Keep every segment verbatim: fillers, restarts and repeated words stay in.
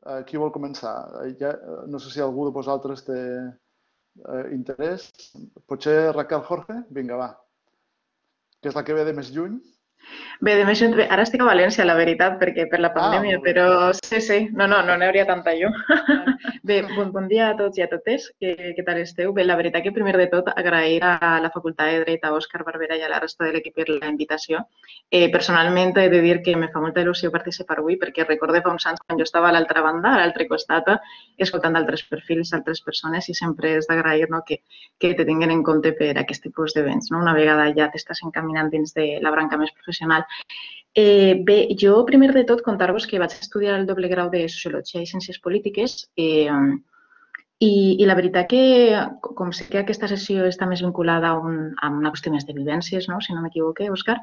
eh, qui vol començar? Eh, ja, eh, no sé si algú de vosaltres té eh, interès. Potser Raquel Jorge? Vinga, va. Que és la que ve de més lluny. Bé, de més, bé, ara estic a València, la veritat, perquè per la Ah, pandèmia, molt bé. però sí, sí, no, no, no n'hi hauria tanta llum. Bé, bon, bon dia a tots i a totes, què, què tal esteu? Bé, la veritat que primer de tot agrair a la Facultat de Dret, a Òscar Barberà i a la resta de l'equip per la invitació. Eh, personalment he de dir que me fa molta il·lusió participar avui perquè recordo fa uns anys quan jo estava a l'altra banda, a l'altre costat, escoltant altres perfils, altres persones i sempre és d'agrair, no, que, que te tinguin en compte per aquest tipus d'events. No? Una vegada ja t'estàs encaminant dins de la branca més professional. Eh, bé, jo primer de tot contar-vos que vaig estudiar el doble grau de Sociologia i Ciències Polítiques eh, i, i la veritat que, com sé que aquesta sessió està més vinculada a, un, a una qüestió més de vivències, no? Si no m'equivoque, Òscar,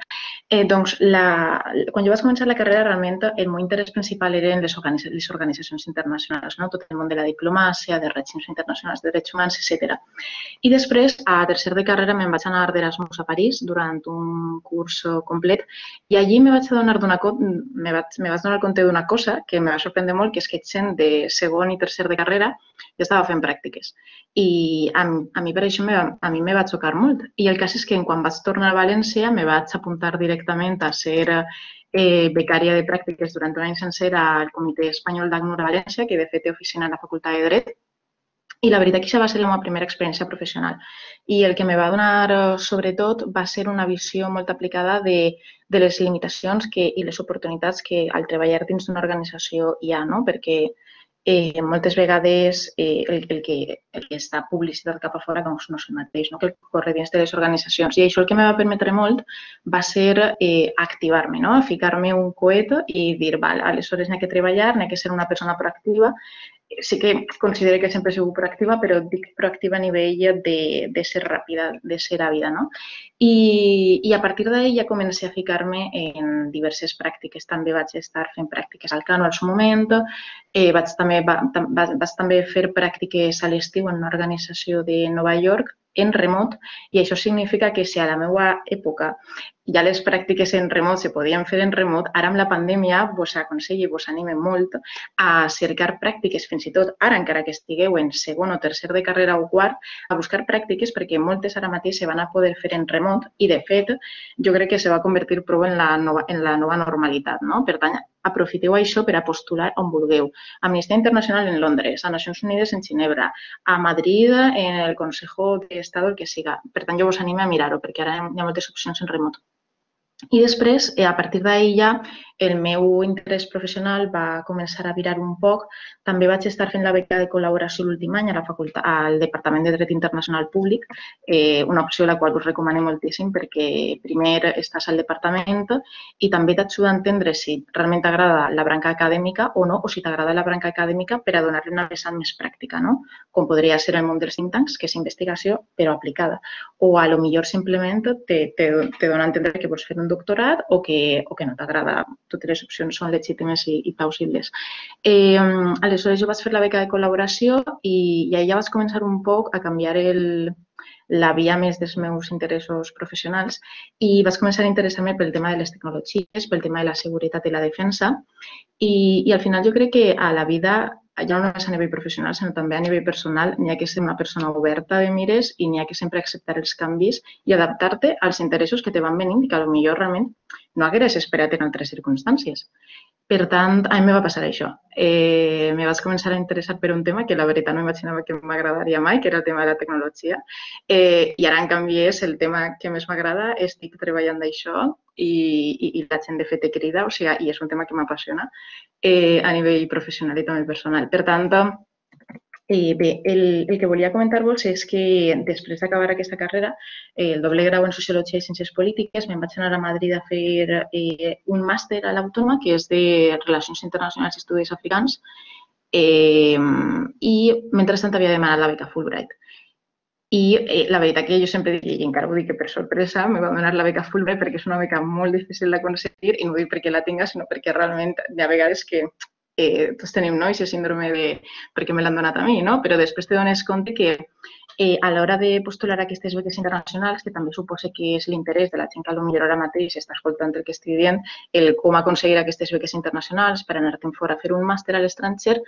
eh, doncs la, quan jo vaig començar la carrera realment el meu interès principal eren les, organitza les organitzacions internacionals, no? Tot el món de la diplomàcia, de règims internacionals de drets humans, etcètera. I després, a tercer de carrera, me'n vaig anar d'Erasmus a París durant un curs complet i allí me vaig adonar d'una me vaig, me vaig donar compte d'una cosa que me va sorprendre molt, que és que gent de segon i tercer de carrera jo estava fent pràctiques. I a, a mi per això me, a mi me va xocar molt. I el cas és que quan vaig tornar a València me vaig apuntar directament a ser eh, becària de pràctiques durant un any sencer al Comitè Espanyol d'ACNUR a València, que de fet té oficina a la Facultat de Dret. I la veritat que això va ser la meva primera experiència professional. I el que me va donar, sobretot, va ser una visió molt aplicada de, de les limitacions que, i les oportunitats que al treballar dins d'una organització hi ha, no? Perquè eh, moltes vegades eh, el, el, que, el que està publicitat cap a fora doncs, no és el mateix, no? Que el corre dins de les organitzacions. I això el que me va permetre molt va ser eh, activar-me, no? Ficar-me un coet i dir, val, aleshores n'hi ha que treballar, n'hi ha que ser una persona proactiva. Sí que considero que sempre he sigut proactiva, però dic proactiva a nivell de, de ser ràpida, de ser àvida, no? I, i a partir d'ahir ja comencé a ficar-me en diverses pràctiques. També vaig estar fent pràctiques al Cano al seu moment, eh, vaig, també, va, va, vaig també fer pràctiques a l'estiu en una organització de Nova York en remot i això significa que si a la meva època ja les pràctiques en remot se podien fer en remot, ara amb la pandèmia vos aconsello i vos anime molt a cercar pràctiques, fins i tot ara encara que estigueu en segon o tercer de carrera o quart, a buscar pràctiques perquè moltes ara mateix se van a poder fer en remot i de fet jo crec que se va convertir prou en la nova, en la nova normalitat, no? Per tant, aprofiteu això per a postular on vulgueu. Amnistia Internacional en Londres, a Nacions Unides en Ginebra, a Madrid en el Consejo de Estado, el que siga. Per tant, jo vos animo a mirar-ho perquè ara hi ha moltes opcions en remot. I després, a partir d'ahir ja, el meu interès professional va començar a virar un poc. També vaig estar fent la beca de col·laboració l'últim any a la facultat, al Departament de Dret Internacional Públic, eh, una opció la qual us recomano moltíssim perquè primer estàs al departament i també t'ajuda a entendre si realment t'agrada la branca acadèmica o no, o si t'agrada la branca acadèmica per a donar-li una vessant més pràctica, no? Com podria ser el món dels think tanks, que és investigació però aplicada. O a lo millor simplement te, te, te dona a entendre que vols fer un doctorat o que, o que no t'agrada. Totes les opcions són legítimes i, i plausibles. Eh, aleshores, jo vaig fer la beca de col·laboració i, i allà vaig començar un poc a canviar el, la via més dels meus interessos professionals i vaig començar a interessar-me pel tema de les tecnologies, pel tema de la seguretat i la defensa i, i al final jo crec que a la vida, ja no només a nivell professional, sinó també a nivell personal, n'hi ha que ser una persona oberta de mires i n'hi ha que sempre acceptar els canvis i adaptar-te als interessos que te van venint i que potser realment no hagueres esperat en altres circumstàncies. Per tant, a mi me va passar això. Eh, me vaig començar a interessar per un tema que la veritat no imaginava que m'agradaria mai, que era el tema de la tecnologia. Eh, I ara, en canvi, és el tema que més m'agrada, estic treballant d'això i, i, i la gent de fet te crida, o sigui, i és un tema que m'apassiona eh, a nivell professional i també personal. Per tant, Eh, bé, el, el que volia comentar-vos és que després d'acabar aquesta carrera, eh, el doble grau en Sociologia i Ciències Polítiques, me'n vaig anar a Madrid a fer eh, un màster a l'Autònoma, que és de Relacions Internacionals i Estudis Africans, eh, i mentrestant havia demanat la beca Fulbright. I eh, la veritat que jo sempre dic, i encara ho dic que per sorpresa, me va donar la beca Fulbright perquè és una beca molt difícil d'aconseguir i no ho dic perquè la tinga, sinó perquè realment hi ha vegades que eh, tots tenim no? Aquest síndrome de perquè me l'han donat a mi, no? Però després te dones compte que a l'hora de postular aquestes beques internacionals, que també suposa que és l'interès de la gent que potser ara mateix està escoltant el que estic dient, el com aconseguir aquestes beques internacionals per anar-te'n fora a fer un màster a l'estranger,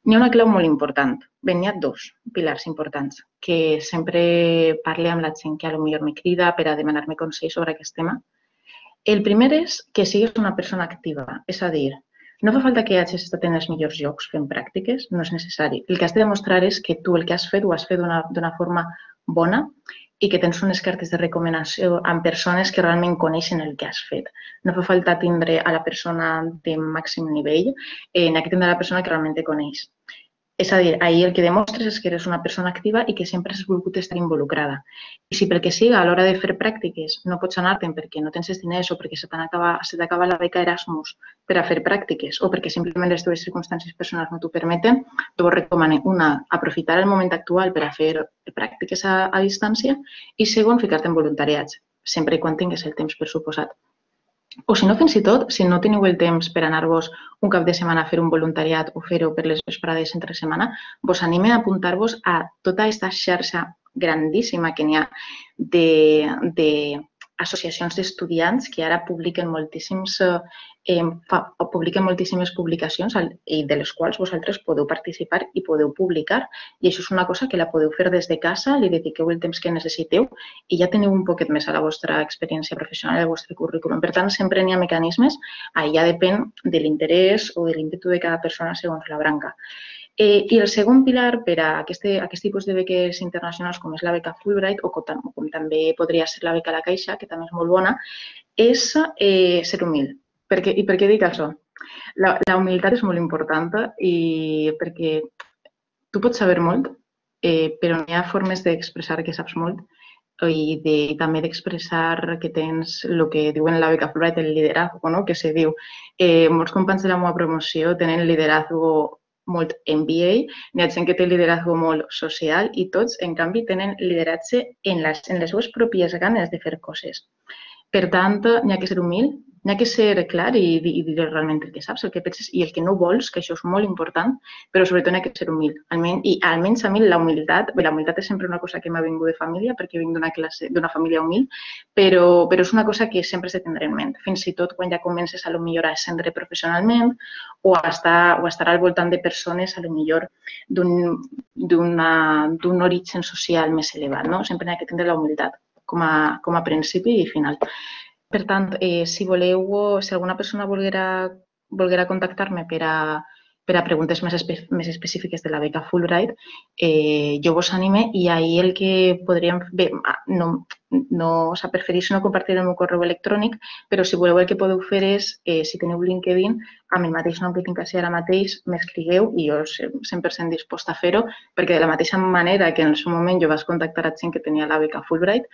n'hi ha una clau molt important. Bé, n'hi ha dos pilars importants que sempre parlo amb la gent que potser me crida per a demanar-me consell sobre aquest tema. El primer és que siguis una persona activa, és a dir, no fa falta que hagis estat en els millors llocs fent pràctiques, no és necessari. El que has de demostrar és que tu el que has fet ho has fet d'una forma bona i que tens unes cartes de recomanació amb persones que realment coneixen el que has fet. No fa falta tindre a la persona de màxim nivell, n'hi ha que tindre a la persona que realment te coneix. És a dir, ahir el que demostres és que eres una persona activa i que sempre has volgut estar involucrada. I si pel que siga a l'hora de fer pràctiques no pots anar-te'n perquè no tens els diners o perquè se t'acaba la beca Erasmus per a fer pràctiques o perquè simplement les teves circumstàncies personals no t'ho permeten, jo vos recomano, una, aprofitar el moment actual per a fer pràctiques a, a distància i segon, ficar-te en voluntariats, sempre i quan tingues el temps per suposat. O si no, fins i tot, si no teniu el temps per anar-vos un cap de setmana a fer un voluntariat o fer-ho per les vesprades entre setmana, vos anime a apuntar-vos a tota aquesta xarxa grandíssima que n'hi ha d'associacions d'estudiants que ara publiquen moltíssims eh, fa, publiquen moltíssimes publicacions i de les quals vosaltres podeu participar i podeu publicar. I això és una cosa que la podeu fer des de casa, li dediqueu el temps que necessiteu i ja teniu un poquet més a la vostra experiència professional, al vostre currículum. Per tant, sempre n'hi ha mecanismes, ja depèn de l'interès o de l'ímpetu de cada persona segons la branca. Eh, I el segon pilar per a aquest, aquest tipus de beques internacionals, com és la beca Fulbright o com, com també podria ser la beca La Caixa, que també és molt bona, és eh, ser humil. Per què, I per què dic això? La, la humilitat és molt important i perquè tu pots saber molt, eh, però hi ha formes d'expressar que saps molt i, de, i també d'expressar que tens el que diuen la beca Fulbright, el liderazgo, no? Que se diu. Eh, molts companys de la meva promoció tenen liderazgo molt M B A, n'hi ha gent que té lideratge molt social i tots, en canvi, tenen lideratge en les, en les seves pròpies ganes de fer coses. Per tant, n'hi ha que ser humil, n'hi ha que ser clar i, i dir realment el que saps, el que penses i el que no vols, que això és molt important, però sobretot n'hi ha que ser humil. Almenys, I almenys a mi la humilitat, bé, la humilitat és sempre una cosa que m'ha vingut de família perquè vinc d'una classe, d'una família humil, però, però és una cosa que sempre s'ha de tindre en ment. Fins i tot quan ja comences a lo millor a ascendre professionalment o a estar, o a estar al voltant de persones a lo millor d'un origen social més elevat, no? Sempre n'hi ha que tindre la humilitat com a, com a principi i final. Per tant, eh, si voleu, si alguna persona volguera, volguera contactar-me per a, per a preguntes més, espe més específiques de la beca Fulbright, eh, jo vos anime i ahir el que podríem... Bé, no, no s'ha preferit no compartir el meu correu electrònic, però si voleu el que podeu fer és, eh, si teniu LinkedIn, amb el mateix nom que tinc així ara mateix, m'escrigueu i jo cent per cent disposta a fer-ho, perquè de la mateixa manera que en el seu moment jo vaig contactar a gent que tenia la beca Fulbright,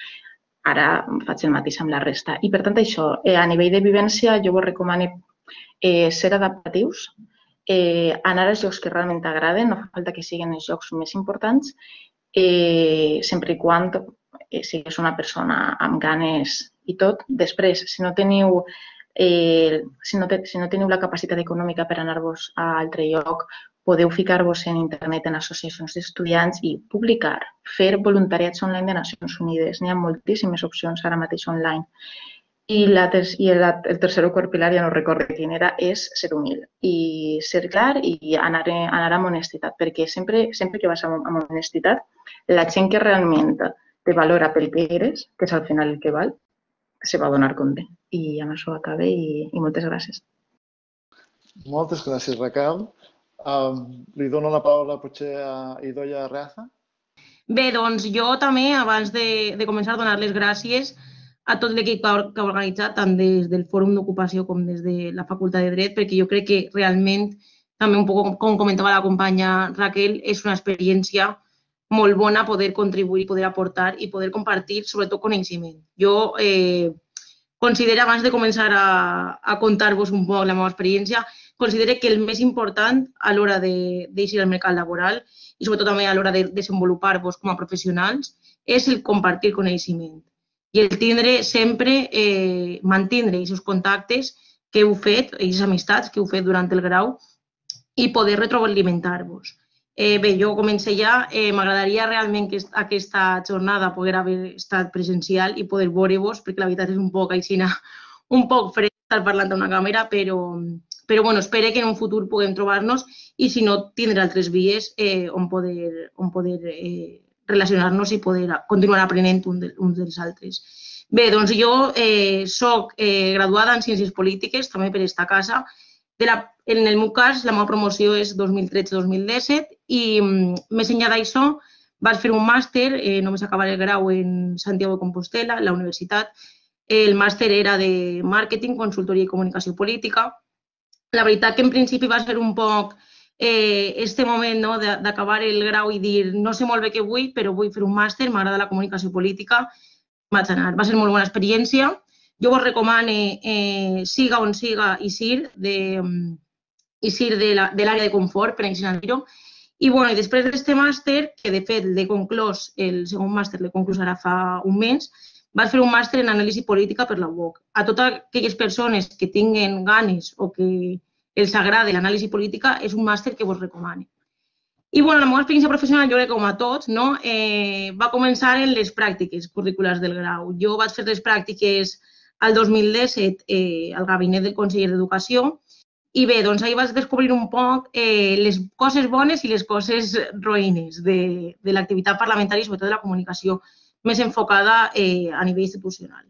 ara faig el mateix amb la resta. I per tant, això, eh, a nivell de vivència, jo vos recomano eh, ser adaptatius, eh, anar als llocs que realment t'agraden, no fa falta que siguin els llocs més importants, eh, sempre i quan eh, siguis una persona amb ganes i tot. Després, si no teniu, eh, si no te, si no teniu la capacitat econòmica per anar-vos a altre lloc, podeu ficar-vos en internet, en associacions d'estudiants i publicar, fer voluntariats online de Nacions Unides. N'hi ha moltíssimes opcions ara mateix online. I, la, i el, el tercer o quart pilar, ja no recordo quin era, és ser humil i ser clar i anar, anar amb honestitat, perquè sempre, sempre que vas amb, amb honestitat, la gent que realment te valora pel que eres, que és al final el que val, se va donar compte. I amb això acabe i, i moltes gràcies. Moltes gràcies, Raquel. Um, li dono la paraula potser a Idoia Reaza. Bé, doncs jo també, abans de, de començar, donar les gràcies a tot l'equip que ha organitzat, tant des del Fòrum d'Ocupació com des de la Facultat de Dret, perquè jo crec que realment, també un poc com comentava la companya Raquel, és una experiència molt bona poder contribuir, poder aportar i poder compartir, sobretot, coneixement. Jo eh, considero, abans de començar a, a contar-vos un poc la meva experiència, considero que el més important a l'hora d'eixir al mercat laboral i sobretot també a l'hora de desenvolupar-vos com a professionals és el compartir coneixement i el tindre sempre, eh, mantindre aquests contactes que heu fet, aquestes amistats que heu fet durant el grau i poder retroalimentar-vos. Bé, jo començo ja. M'agradaria realment que aquesta jornada poder haver estat presencial i poder veure-vos, perquè la veritat és un poc així, un poc fred estar parlant a una càmera, però però bueno, espero que en un futur puguem trobar-nos i si no, tindré altres vies on poder relacionar-nos i poder continuar aprenent uns dels altres. Bé, doncs jo soc graduada en Ciències Polítiques, també per esta casa. En el meu cas, la meva promoció és dos mil tretze dos mil disset i més enllà d'això vaig fer un màster, només acabar el grau en Santiago de Compostela, a la universitat. El màster era de Màrqueting, Consultoria i Comunicació Política. La veritat que en principi va ser un poc este moment d'acabar el grau i dir no sé molt bé què vull, però vull fer un màster, m'agrada la comunicació política, vaig anar. Va ser molt bona experiència. Jo vos recomano, siga on siga, ISIR, ISIR de l'àrea de confort, per així dir-ho. I després d'aquest màster, que de fet l'he conclòs, el segon màster l'he conclòs ara fa un mes, vaig fer un màster en anàlisi política per la U O C. A totes aquelles persones que tinguen ganes o que els agrada l'anàlisi política, és un màster que vos recomano. I la meva experiència professional, jo crec que com a tots, va començar en les pràctiques curriculars del grau. Jo vaig fer les pràctiques el dos mil disset al gabinet del conseller d'Educació i bé, doncs ahir vaig descobrir un poc les coses bones i les coses roïnes de l'activitat parlamentària i sobretot de la comunicació més enfocada a nivell institucional.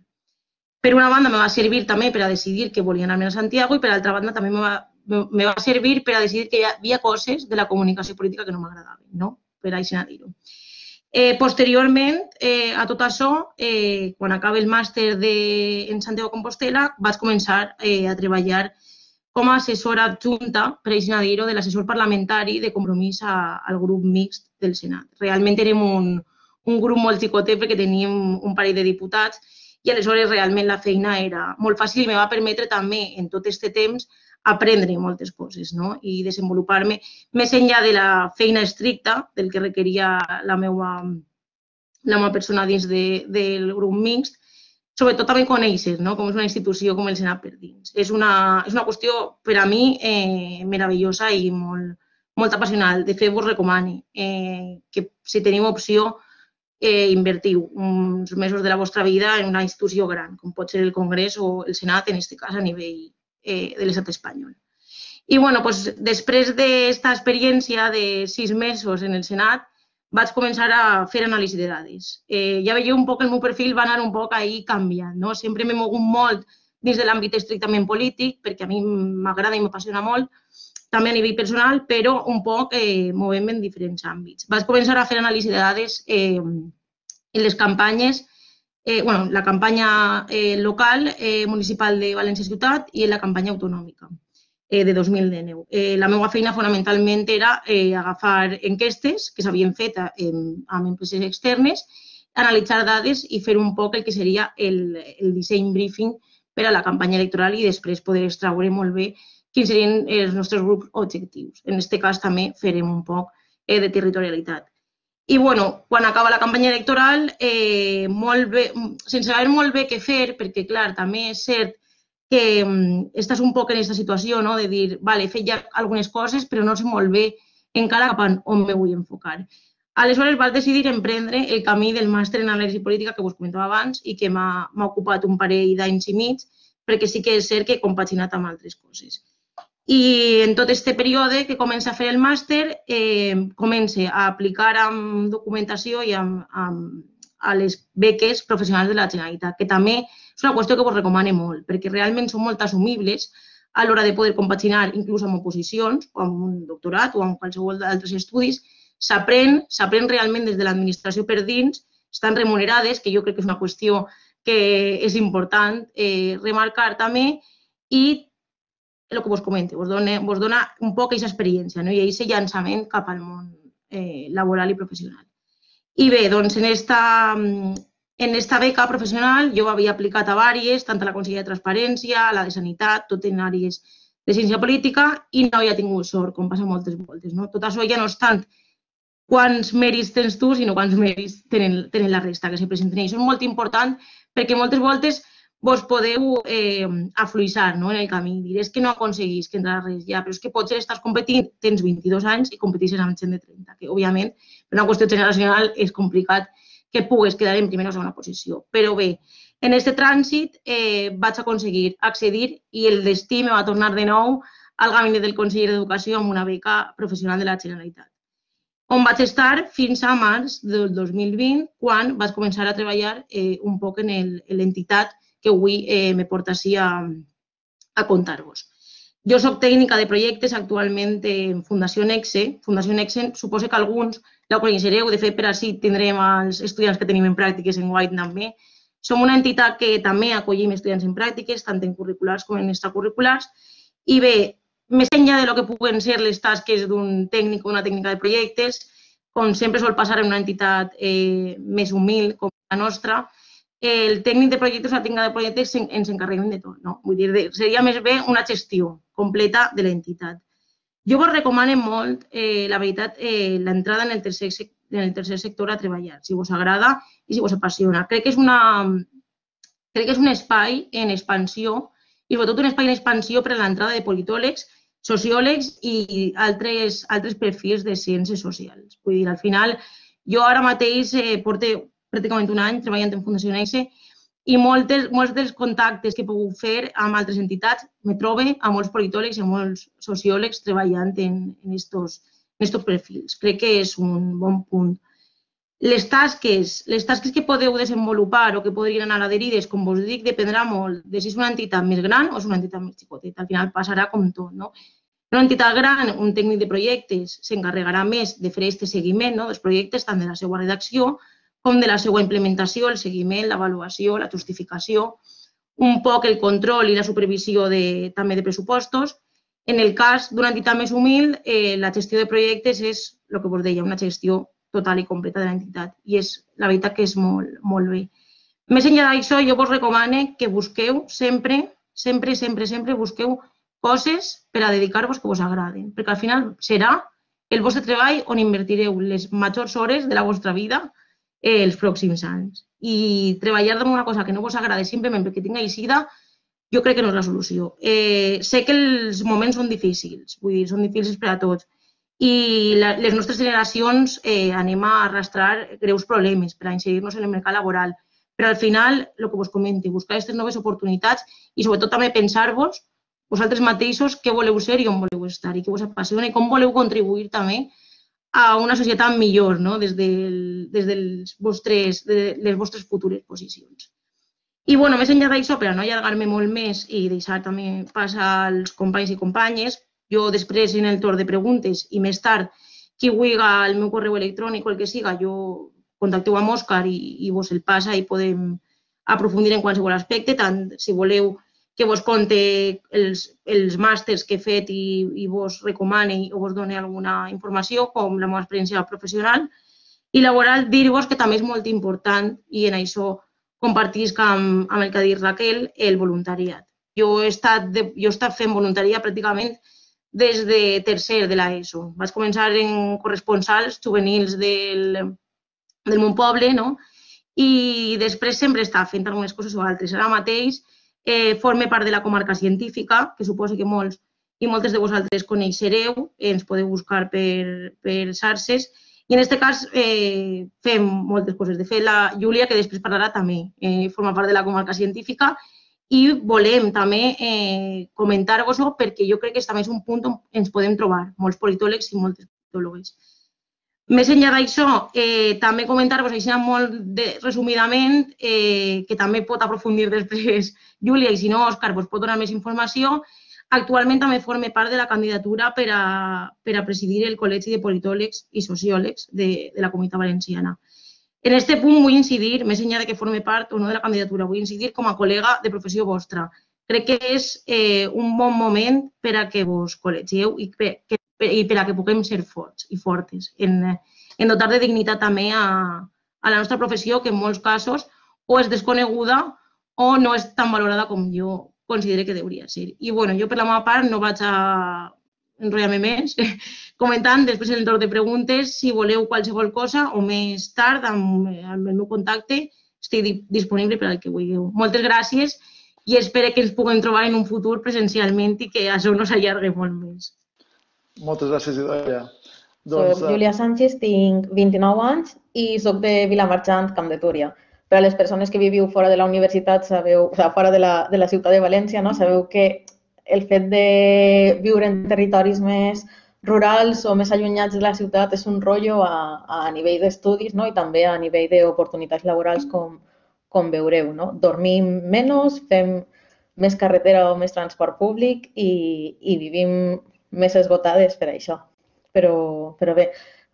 Per una banda, me va servir també per a decidir que volia anar-me a Santiago i per altra banda també me va servir per a decidir que hi havia coses de la comunicació política que no m'agradaven, per així dir-ho. Posteriorment a tot això, quan acaba el màster en Santiago de Compostela, vaig començar a treballar com a assessora adjunta, per així dir-ho, de l'assessor parlamentari de compromís al grup mixt del Senat. Realment érem un un grup molt xicotet perquè teníem un parell de diputats i aleshores realment la feina era molt fàcil i em va permetre també en tot aquest temps aprendre moltes coses i desenvolupar-me més enllà de la feina estricta del que requeria la meva persona dins del grup mixt, sobretot també conèixer com és una institució com el Senat per dins. És una qüestió per a mi meravellosa i molt apassionant. De fet, vos recomano que si teniu opció invertiu uns mesos de la vostra vida en una institució gran, com pot ser el Congrés o el Senat, en aquest cas a nivell de l'estat espanyol. I després d'aquesta experiència de sis mesos en el Senat, vaig començar a fer anàlisi de dades. Ja veieu un poc el meu perfil va anar un poc ahí canviant. Sempre m'he mogut molt dins de l'àmbit estrictament polític, perquè a mi m'agrada i m'apassiona molt, també a nivell personal, però un poc movem en diferents àmbits. Vaig començar a fer anàlisi de dades en les campanyes, la campanya local municipal de València Ciutat i en la campanya autonòmica de dos mil dinou. La meva feina fonamentalment era agafar enquestes que s'havien fet amb empreses externes, analitzar dades i fer un poc el que seria el disseny briefing per a la campanya electoral i després poder extraure molt bé quins serien els nostres grups objectius. En aquest cas també farem un poc de territorialitat. I quan acaba la campanya electoral, sense saber molt bé què fer, perquè clar, també és cert que estàs un poc en aquesta situació de dir, vale, he fet ja algunes coses, però no sé molt bé encara cap a on me vull enfocar. Aleshores vaig decidir emprendre el camí del màster en anàlisi política que vos comentava abans i que m'ha ocupat un parell d'anys i mig, perquè sí que és cert que he compaginat amb altres coses. I en tot aquest període que comença a fer el màster, comença a aplicar amb documentació i a les beques professionals de la Generalitat, que també és una qüestió que vos recomano molt, perquè realment són molt assumibles a l'hora de poder compaginar inclús amb oposicions o amb un doctorat o amb qualsevol d'altres estudis. S'aprèn, s'aprèn realment des de l'administració per dins, estan remunerades, que jo crec que és una qüestió que és important remarcar també, i el que vos comento, vos dona un poc aquesta experiència i aquest llançament cap al món laboral i professional. I bé, doncs en aquesta beca professional jo havia aplicat a diverses, tant a la Conselleria de Transparència, a la de Sanitat, tot en àrees de ciència política i no havia tingut sort, com passa moltes voltes. Tot això ja no és tant quants mèrits tens tu, sinó quants mèrits tenen la resta que se presenten. I això és molt important perquè moltes voltes vos podeu eh, afluixar, no?, en el camí. Dir, és que no aconseguís que entrar res ja, però és que potser estàs competint, tens vint-i-dos anys i competeixes amb gent de trenta, que òbviament per una qüestió generacional és complicat que pugues quedar en primera o segona posició. Però bé, en aquest trànsit eh, vaig aconseguir accedir i el destí me va tornar de nou al gabinet del conseller d'Educació amb una beca professional de la Generalitat, on vaig estar fins a març del dos mil vint, quan vaig començar a treballar eh, un poc en l'entitat que avui eh, me porta així a, a contar-vos. Jo soc tècnica de projectes actualment en Fundació Nexe. Fundació Nexe suposo que alguns la coneixereu, de fet per així tindrem els estudiants que tenim en pràctiques en Guaita també. Som una entitat que també acollim estudiants en pràctiques, tant en curriculars com en extracurriculars, i bé, més enllà de lo que puguen ser les tasques d'un tècnic o una tècnica de projectes, com sempre sol passar en una entitat eh, més humil com la nostra, el tècnic de projectes o la tècnica de projectes ens encarreguem de tot, no? Vull dir, seria més bé una gestió completa de l'entitat. Jo vos recomano molt, eh, la veritat, eh, l'entrada en, el tercer, en el tercer sector a treballar, si vos agrada i si vos apassiona. Crec que és, una, crec que és un espai en expansió i sobretot un espai en expansió per a l'entrada de politòlegs, sociòlegs i altres, altres perfils de ciències socials. Vull dir, al final, jo ara mateix eh, porto pràcticament un any treballant en Fundació Nexe i moltes, molts dels contactes que he pogut fer amb altres entitats me trobo a molts politòlegs i a molts sociòlegs treballant en aquests perfils. Crec que és un bon punt. Les tasques, les tasques que podeu desenvolupar o que podrien anar adherides, com vos dic, dependrà molt de si és una entitat més gran o és una entitat més xicoteta. Al final passarà com tot, no? En una entitat gran, un tècnic de projectes s'encarregarà més de fer aquest seguiment, no?, dels projectes, tant de la seva redacció com de la seva implementació, el seguiment, l'avaluació, la justificació, un poc el control i la supervisió de, també de pressupostos. En el cas d'una entitat més humil, eh, la gestió de projectes és, el que vos deia, una gestió total i completa de l'entitat i és la veritat que és molt, molt bé. Més enllà d'això, jo vos recomano que busqueu sempre, sempre, sempre, sempre busqueu coses per a dedicar-vos que vos agraden, perquè al final serà el vostre treball on invertireu les majors hores de la vostra vida eh, els pròxims anys. I treballar en una cosa que no vos agrada simplement perquè tinga eixida, jo crec que no és la solució. Eh, sé que els moments són difícils, vull dir, són difícils per a tots, i la, les nostres generacions eh, anem a arrastrar greus problemes per a inserir-nos en el mercat laboral. Però al final, el que vos comento, buscar aquestes noves oportunitats i sobretot també pensar-vos vosaltres mateixos què voleu ser i on voleu estar i què vos apassiona i com voleu contribuir també a una societat millor, no?, des de des dels vostres, de les vostres futures posicions. I, bueno, més enllà d'això, per a no allargar-me molt més i deixar també passar als companys i companyes, jo després en el torn de preguntes i més tard, qui vulgui el meu correu electrònic o el que siga, jo contacteu amb Òscar i, i vos el passa i podem aprofundir en qualsevol aspecte, tant si voleu que vos conte els, els màsters que he fet i, i vos recomani o vos doni alguna informació, com la meva experiència professional i laboral. Dir-vos que també és molt important, i en això compartisc amb, amb el que ha dit Raquel, el voluntariat. Jo he estat, de, jo he estat fent voluntariat pràcticament des de tercer de l'ESO. Vaig començar en corresponsals juvenils del, del meu poble, no?, i després sempre he estat fent algunes coses o altres. Ara mateix Eh, forme part de la comarca científica, que suposo que molts i moltes de vosaltres coneixereu, ens podeu buscar per, per xarxes, i en aquest cas eh, fem moltes coses. De fet, la Júlia, que després parlarà, també eh, forma part de la comarca científica i volem també eh, comentar-vos-ho perquè jo crec que també és un punt on ens podem trobar molts politòlegs i moltes politòlogues. Més enllà d'això, eh, també comentar-vos així molt de, resumidament, eh, que també pot aprofundir després Júlia i si no, Òscar, vos pot donar més informació. Actualment també forma part de la candidatura per a, per a presidir el Col·legi de Politòlegs i Sociòlegs de, de la Comunitat Valenciana. En aquest punt vull incidir, més enllà de que forme part o no de la candidatura, vull incidir com a col·lega de professió vostra. Crec que és eh, un bon moment per a que vos col·legieu i per, que i per a que puguem ser forts i fortes, en, en dotar de dignitat també a, a la nostra professió, que en molts casos o és desconeguda o no és tan valorada com jo considero que hauria de ser. I bueno, jo per la meva part no vaig a enrotllar-me més, comentant després en el torn de preguntes, si voleu qualsevol cosa o més tard amb, amb el meu contacte, estic disponible per al que vulgueu. Moltes gràcies i espero que ens puguem trobar en un futur presencialment i que això no s'allargui molt més. Moltes gràcies, Idoia. Soc Júlia Sánchez, tinc vint-i-nou anys i soc de Vilamarxant, Camp de Túria. Per a les persones que viviu fora de la universitat, sabeu, o sigui, fora de la, de la ciutat de València, no? Sabeu que el fet de viure en territoris més rurals o més allunyats de la ciutat és un rotllo a, a nivell d'estudis, no? I també a nivell d'oportunitats laborals, com, com veureu, no? Dormim menys, fem més carretera o més transport públic i, i vivim més esgotades per això. Però, però bé,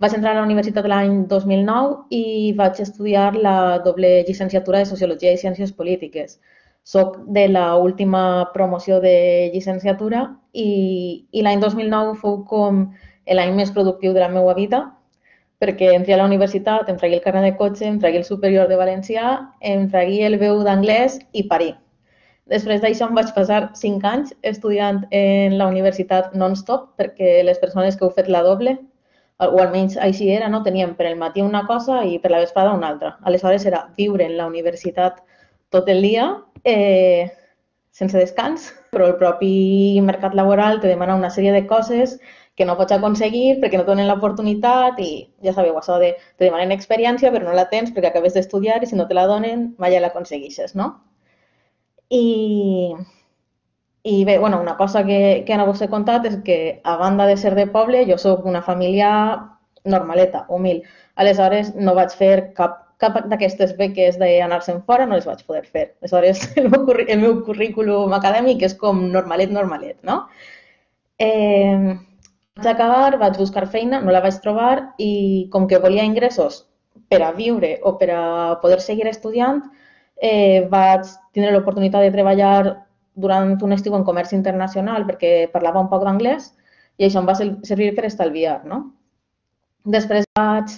vaig entrar a la universitat l'any dos mil nou i vaig estudiar la doble llicenciatura de Sociologia i Ciències Polítiques. Soc de l'última promoció de llicenciatura i, i l'any dos mil nou fou com l'any més productiu de la meva vida, perquè entré a la universitat, em tragué el carnet de cotxe, em tragué el superior de valencià, em tragué el B u d'anglès i parí. Després d'això em vaig passar cinc anys estudiant en la universitat non-stop, perquè les persones que heu fet la doble, o almenys així era, no? Teníem per el matí una cosa i per la vesprada una altra. Aleshores era viure en la universitat tot el dia, eh, sense descans, però el propi mercat laboral te demana una sèrie de coses que no pots aconseguir perquè no et donen l'oportunitat i ja sabeu, això de te demanen experiència però no la tens perquè acabes d'estudiar i si no te la donen mai ja l'aconsegueixes, no? I, i bé, bueno, una cosa que, que no vos he contat és que, a banda de ser de poble, jo soc una família normaleta, humil. Aleshores, no vaig fer cap, cap d'aquestes beques d'anar-se'n fora, no les vaig poder fer. Aleshores, el meu, el meu currículum acadèmic és com normalet, normalet, no? Eh, vaig acabar, vaig buscar feina, no la vaig trobar i com que volia ingressos per a viure o per a poder seguir estudiant, Eh, vaig tindre l'oportunitat de treballar durant un estiu en comerç internacional perquè parlava un poc d'anglès i això em va servir per estalviar, no? Després vaig,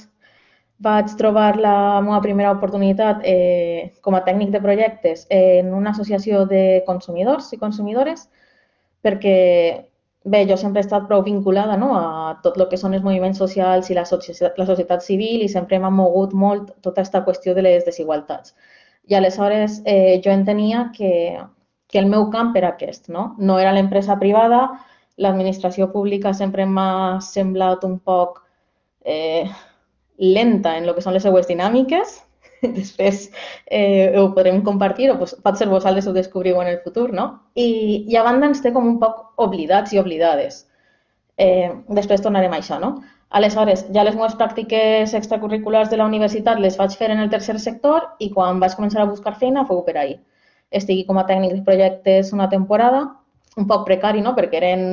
vaig trobar la meva primera oportunitat eh, com a tècnic de projectes en una associació de consumidors i consumidores perquè, bé, jo sempre he estat prou vinculada, no?, a tot el que són els moviments socials i la societat, la societat civil i sempre m'ha mogut molt tota aquesta qüestió de les desigualtats. I aleshores eh, jo entenia que, que el meu camp era aquest, no? No era l'empresa privada, l'administració pública sempre m'ha semblat un poc eh, lenta en el que són les seues dinàmiques, després eh, ho podrem compartir o pues, pot ser vosaltres ho descobriu en el futur, no? I, i a banda ens té com un poc oblidats i oblidades. Eh, després tornarem a això, no? Aleshores, ja les meves pràctiques extracurriculars de la universitat les vaig fer en el tercer sector i quan vaig començar a buscar feina fou per ahir. Estigui com a tècnic de projectes una temporada, un poc precari, no?, perquè eren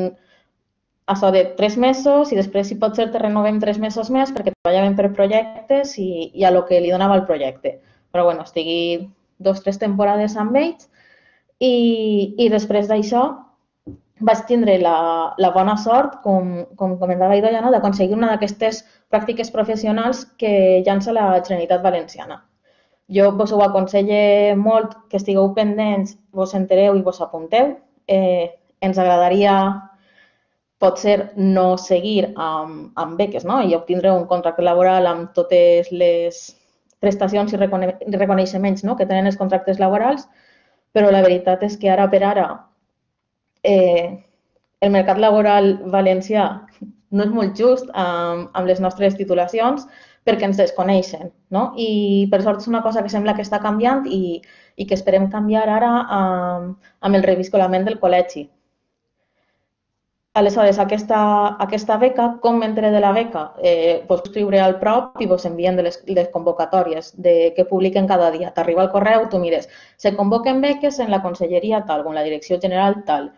això de tres mesos i després, si pot ser, te renovem tres mesos més perquè treballàvem per projectes i, i a lo que li donava el projecte. Però, bueno, estigui dos o tres temporades amb ells i, i després d'això vaig tindre la, la bona sort, com, com comentava Idoia, no?, d'aconseguir una d'aquestes pràctiques professionals que llança la Generalitat Valenciana. Jo vos ho aconselle molt que estigueu pendents, vos entereu i vos apunteu. Eh, ens agradaria, potser, no seguir amb, amb beques, no?, i obtindre un contracte laboral amb totes les prestacions i recone reconeixements, no?, que tenen els contractes laborals, però la veritat és que ara per ara Eh, el mercat laboral valencià no és molt just amb, amb les nostres titulacions perquè ens desconeixen, no? I per sort és una cosa que sembla que està canviant i, i que esperem canviar ara amb, amb el reviscolament del col·legi. Aleshores, aquesta, aquesta beca, com m'entré de la beca? Eh, vos escriure al prop i vos envien de les, les convocatòries de, que publiquen cada dia. T'arriba el correu, tu mires, se convoquen beques en la conselleria tal o en la direcció general tal.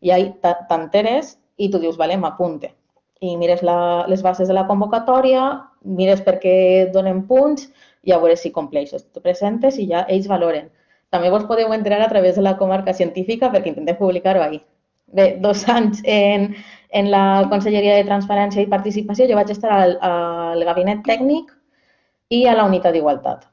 I ahí t'enteres i tu dius, vale, m'apunte. I mires la, les bases de la convocatòria, mires per què donen punts i a veure si compleixes. Te presentes i ja ells valoren. També vos podeu entrar a través de la comarca científica perquè intentem publicar-ho ahí. Bé, dos anys en, en la Conselleria de Transparència i Participació, jo vaig estar al, al gabinet tècnic i a la unitat d'igualtat.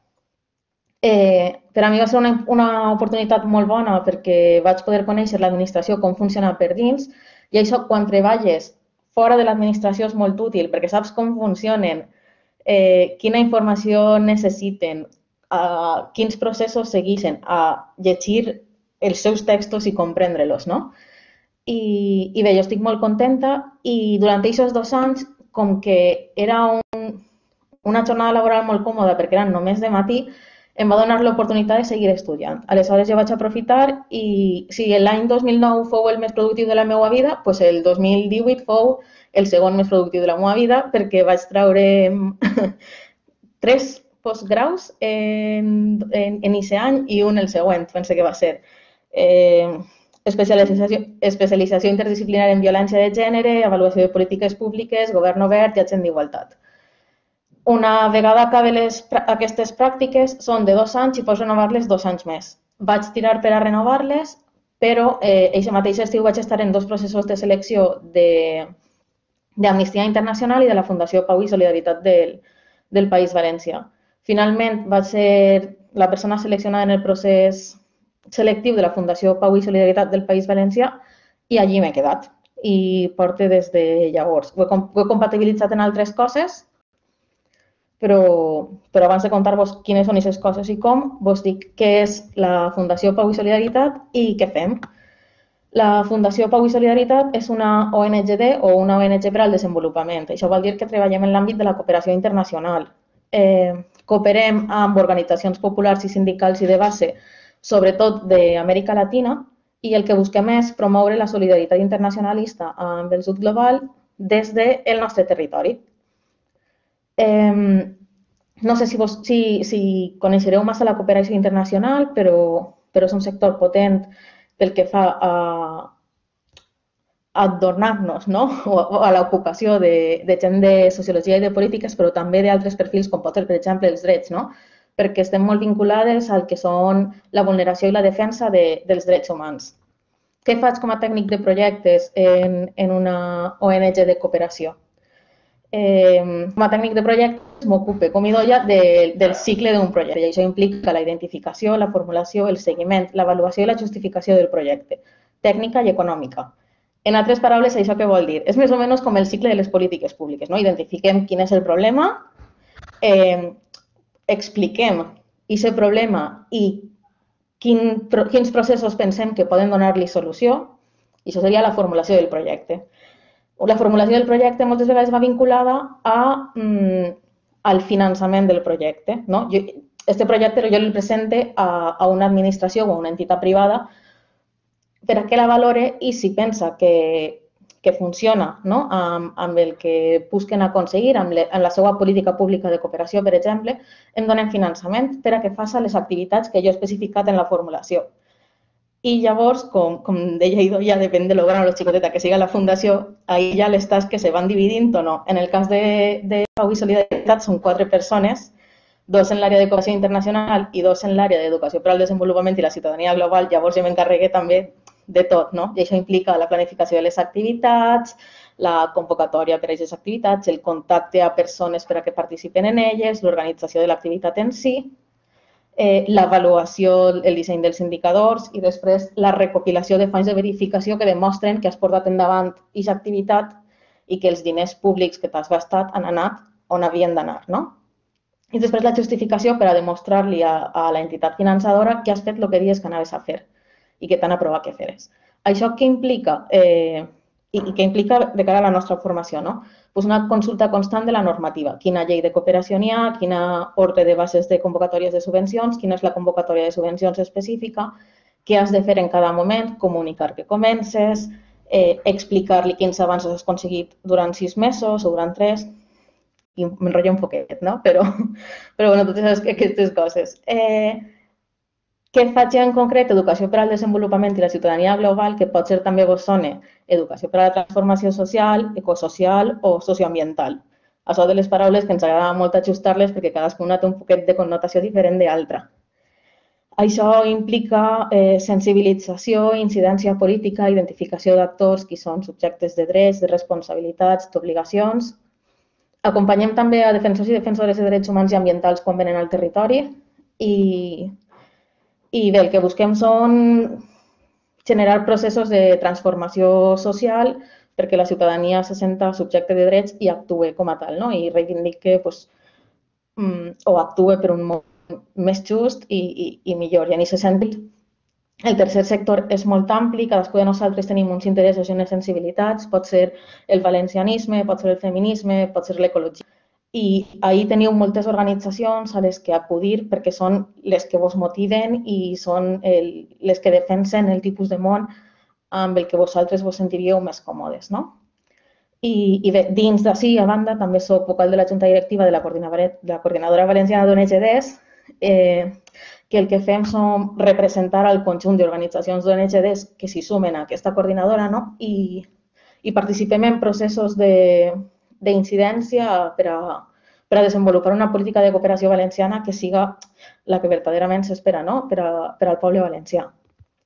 Eh, per a mi va ser una, una oportunitat molt bona perquè vaig poder conèixer l'administració, com funciona per dins, i això quan treballes fora de l'administració és molt útil perquè saps com funcionen, eh, quina informació necessiten, eh, quins processos segueixen, a llegir els seus textos i comprendre-los, no? I, I bé, jo estic molt contenta i durant aquests dos anys, com que era un, una jornada laboral molt còmoda perquè eren només de matí, em va donar l'oportunitat de seguir estudiant. Aleshores jo vaig aprofitar i si l'any dos mil nou fou el més productiu de la meva vida, doncs el dos mil divuit fou el segon més productiu de la meva vida perquè vaig treure tres postgraus en, en, en aquest any i un el següent, pense que va ser. Eh, especialització, especialització interdisciplinària en violència de gènere, avaluació de polítiques públiques, govern obert i agent d'igualtat. Una vegada acabe les, aquestes pràctiques, són de dos anys i pots renovar-les dos anys més. Vaig tirar per a renovar-les, però eh, aquest mateix estiu vaig estar en dos processos de selecció d'Amnistia Internacional i de la Fundació Pau i Solidaritat del, del País Valencià. Finalment, vaig ser la persona seleccionada en el procés selectiu de la Fundació Pau i Solidaritat del País Valencià i allí m'he quedat. I porto des de llavors. Ho he, ho he compatibilitzat en altres coses, Però, però abans de contar-vos quines són aquestes coses i com, vos dic què és la Fundació Pau i Solidaritat i què fem. La Fundació Pau i Solidaritat és una O N G D o una O N G per al desenvolupament. Això vol dir que treballem en l'àmbit de la cooperació internacional. Eh, cooperem amb organitzacions populars i sindicals i de base, sobretot d'Amèrica Latina, i el que busquem és promoure la solidaritat internacionalista amb el sud global des del nostre territori. Eh, no sé si, vos, si, si coneixereu massa la cooperació internacional, però, però és un sector potent pel que fa a, a adornar-nos, no? o, o a l'ocupació de, de gent de sociologia i de polítiques, però també d'altres perfils com pot ser, per exemple, els drets, no? Perquè estem molt vinculades al que són la vulneració i la defensa de, dels drets humans. Què faig com a tècnic de projectes en, en una O N G de cooperació? Eh, com a tècnic de projectes m'ocupe, com hi doia, de, del cicle d'un projecte. I això implica la identificació, la formulació, el seguiment, l'avaluació i la justificació del projecte, tècnica i econòmica. En altres paraules, això què vol dir? És més o menys com el cicle de les polítiques públiques, no? Identifiquem quin és el problema, eh, expliquem aquest problema i quin, quins processos pensem que poden donar-li solució, i això seria la formulació del projecte. La formulació del projecte moltes vegades va vinculada a, mm, al finançament del projecte. No? Jo, este projecte jo el presente a, a una administració o a una entitat privada per a que la valore i si pensa que, que funciona, no? amb, amb el que busquen aconseguir, amb, le, amb la seva política pública de cooperació, per exemple, em donen finançament per a que faci les activitats que jo he especificat en la formulació. I llavors, com, com deia Ido, ja depèn de lo gran o lo xicoteta que siga la fundació, ahí ja les tasques se van dividint o no. En el cas de, de Pau i Solidaritat són quatre persones, dos en l'àrea de cooperació internacional i dos en l'àrea d'educació per al desenvolupament i la ciutadania global. Llavors jo m'encarregué també de tot, no? I això implica la planificació de les activitats, la convocatòria per a aquestes activitats, el contacte a persones per a que participen en elles, l'organització de l'activitat en si, Eh, l'avaluació, el disseny dels indicadors i després la recopilació de fonts de verificació que demostren que has portat endavant aquesta activitat i que els diners públics que t'has gastat han anat on havien d'anar, no? I després la justificació per a demostrar-li a, a la entitat finançadora que has fet el que dius que anaves a fer i que t'han aprovat que feres. Això què implica? Eh, i, i què implica de cara a la nostra formació, no? Pues una consulta constant de la normativa. Quina llei de cooperació n'hi ha, quina ordre de bases de convocatòries de subvencions, quina és la convocatòria de subvencions específica, què has de fer en cada moment, comunicar que comences, eh, explicar-li quins avanços has aconseguit durant sis mesos o durant tres, i m'enrotllo un poquet, no? Però, però bueno, totes aquestes coses. Eh, Què faig en concret? Educació per al desenvolupament i la ciutadania global, que pot ser també vos sona educació per a la transformació social, ecosocial o socioambiental. Això de les paraules que ens agrada molt ajustar-les perquè cadascuna té un poquet de connotació diferent d'altra. Això implica eh, sensibilització, incidència política, identificació d'actors que són subjectes de drets, de responsabilitats, d'obligacions. Acompanyem també a defensors i defensores de drets humans i ambientals quan venen al territori i I bé, el que busquem són generar processos de transformació social perquè la ciutadania se senta subjecte de drets i actue com a tal, no? I reivindique pues, o actue per un món més just i, i, i millor. I en aquest sentit, El tercer sector és molt ampli, cadascú de nosaltres tenim uns interessos i unes sensibilitats, pot ser el valencianisme, pot ser el feminisme, pot ser l'ecologia. I ahir teniu moltes organitzacions a les que acudir perquè són les que vos motiven i són el, les que defensen el tipus de món amb el que vosaltres vos sentiríeu més còmodes, no? I, i bé, dins d'ací, a banda, també soc vocal de la Junta Directiva de la Coordinadora, de la Coordinadora Valenciana d'O N G Ds, eh, que el que fem som representar el conjunt d'organitzacions d'O N G Ds que s'hi sumen a aquesta coordinadora, no? I, i participem en processos d'incidència per, a, per a desenvolupar una política de cooperació valenciana que siga la que verdaderament s'espera, no? per, a, per al poble valencià.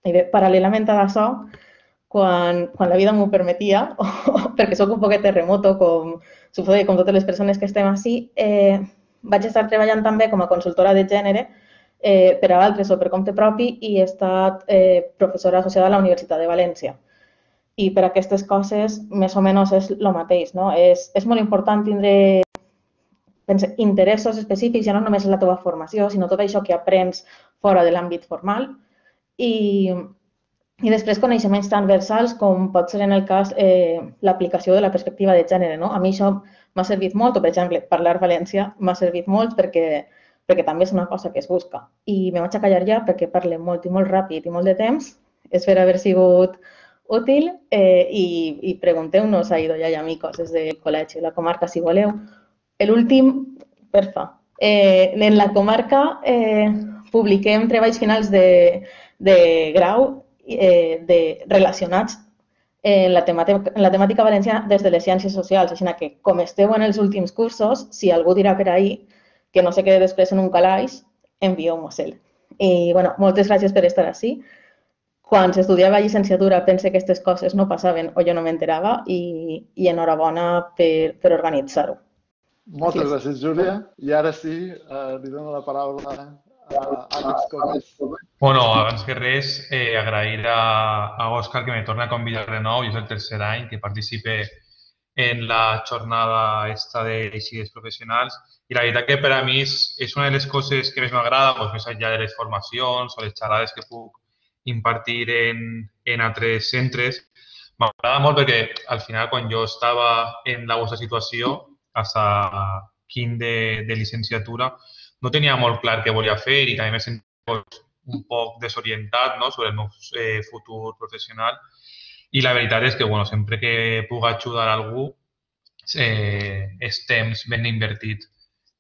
I bé, paral·lelament a això, quan, quan la vida m'ho permetia, perquè sóc un poquet terremoto, com, suposo que com totes les persones que estem així, eh, vaig estar treballant també com a consultora de gènere eh, per a altres o per compte propi i he estat eh, professora associada a la Universitat de València. I per aquestes coses, més o menys, és el mateix, no? És, és molt important tindre pense, interessos específics, ja no només en la teva formació, sinó tot això que aprens fora de l'àmbit formal. I, i després coneixements transversals, com pot ser en el cas eh, l'aplicació de la perspectiva de gènere, no? A mi això m'ha servit molt, o per exemple, parlar valencià m'ha servit molt perquè, perquè també és una cosa que es busca. I me vaig a callar ja perquè parle molt i molt ràpid i molt de temps. Espero haver sigut útil eh, i, i pregunteu-nos a Idoia i amigos des del col·legi, la comarca, si voleu. L'últim, perfa. Eh, en la comarca eh, publiquem treballs finals de, de grau eh, de, relacionats en la, temàtica, en la temàtica valenciana des de les ciències socials. Així que, com esteu en els últims cursos, si algú dirà per ahí que no se quede després en un calaix, envieu-mos-el. I, bueno, moltes gràcies per estar així. Quan s'estudiava llicenciatura pense que aquestes coses no passaven o jo no m'enterava i, i enhorabona per, per organitzar-ho. Moltes gràcies, Júlia. I ara sí, eh, li dono la paraula a Àlex Comas. Bueno, abans que res, eh, agrair a, a Òscar que me torna a convidar de nou. Jo és el tercer any que participe en la jornada esta de eixides professionals i la veritat que per a mi és, és una de les coses que més m'agrada, doncs, més enllà de les formacions o les xerrades que puc impartir en, en altres centres. M'agrada molt perquè al final quan jo estava en la vostra situació, fins a quin de, de licenciatura, no tenia molt clar què volia fer i també me sentia un poc desorientat, no?, sobre el meu eh, futur professional. I la veritat és que bueno, sempre que puc ajudar algú eh, és temps ben invertit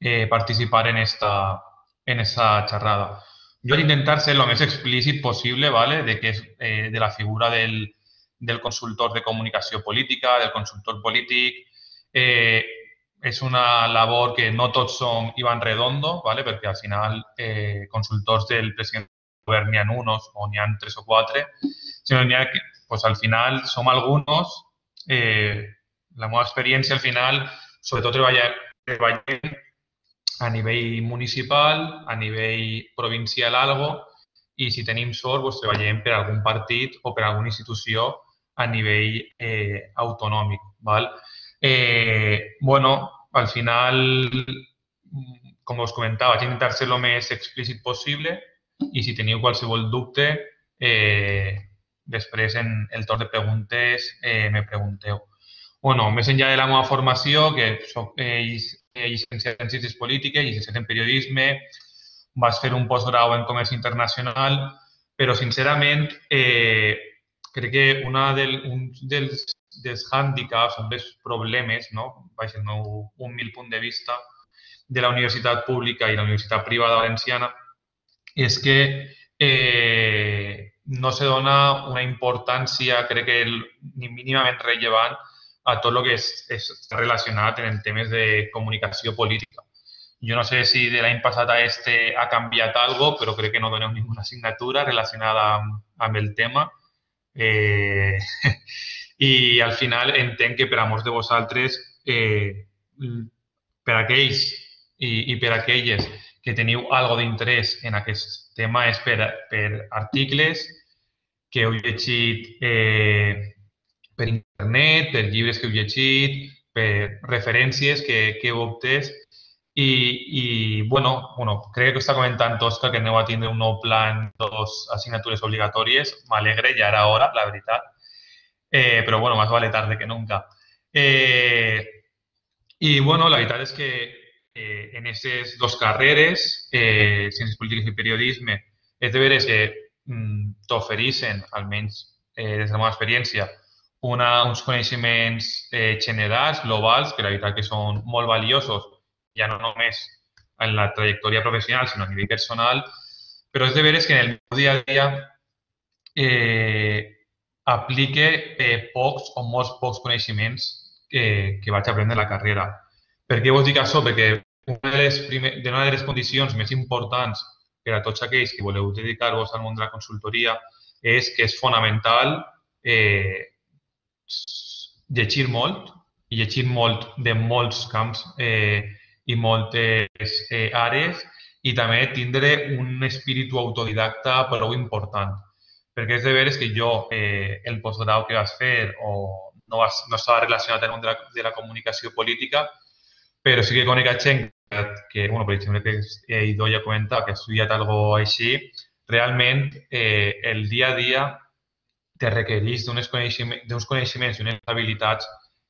eh, participar en esta, en esta xerrada. Jo vaig intentar ser el més explícit possible, ¿vale?, de, que és, eh, de la figura del, del consultor de comunicació política, del consultor polític. Eh, és una labor que no tots som Iván Redondo, ¿vale?, perquè al final eh, consultors del president del govern n'hi ha uns o n'hi ha tres o quatre, sinó n'hi ha que pues, al final som alguns. Eh, la meva experiència al final, sobretot treballar, treballem a nivell municipal, a nivell provincial algo, i si tenim sort doncs, treballem per algun partit o per alguna institució a nivell eh, autonòmic. ¿Val? Eh, bueno, al final, com us comentava, vaig intentar ser el més explícit possible i si teniu qualsevol dubte, eh, després en el torn de preguntes eh, me pregunteu. Bueno, més enllà de la meva formació, que soc eh, llicenciat en Ciències Polítiques, llicenciat en Periodisme, vaig fer un postgrau en Comerç Internacional, però sincerament eh, crec que una del, un dels, dels hàndicaps, un dels problemes, no?, baix el meu humil punt de vista, de la universitat pública i la universitat privada valenciana, és que eh, no se dona una importància, crec que el, ni mínimament rellevant, a tot el que és, és relacionat en temes de comunicació política. Jo no sé si de l'any passat a este ha canviat alguna cosa, però crec que no doneu ninguna assignatura relacionada amb, amb el tema. Eh, I al final entenc que per a molts de vosaltres, eh, per a aquells i, i per a aquelles que teniu algo d'interès en aquest tema és per, per articles que heu llegit eh, per internet, per llibres que heu llegit, per referències que, que heu obtès I, i bueno, bueno, crec que està comentant Òscar que aneu a tindre un nou pla en dos assignatures obligatòries. M'alegre, ja era hora, la veritat. Eh, però bueno, más vale tarde que nunca. Eh, I bueno, la veritat és que eh, en aquestes dues carreres, eh, Ciències Polítiques i Periodisme, és de veres que mm, t'ofereixen, almenys eh, des de la meva experiència, una, uns coneixements eh, generals, globals, que la veritat que són molt valiosos, ja no només en la trajectòria professional, sinó a nivell personal, però és de veres que en el meu dia a dia eh, aplique eh, pocs o molts pocs coneixements que, que vaig aprendre a la carrera. Per què vos dic això? Perquè una de les, primer, de una de les condicions més importants per a tots aquells que voleu dedicar-vos al món de la consultoria és que és fonamental eh, llegir molt, i llegir molt de molts camps eh, i moltes eh, àrees, i també tindre un espíritu autodidacta prou important. Perquè és de veres que jo, eh, el postgrau que vas fer, o no, vas, no estava relacionat amb el món de la, de la comunicació política, però sí que conec a gent que, bueno, per exemple, que eh, Idoia comenta que ha estudiat alguna cosa així, realment eh, el dia a dia te requereix d'uns coneixements, coneixements i unes habilitats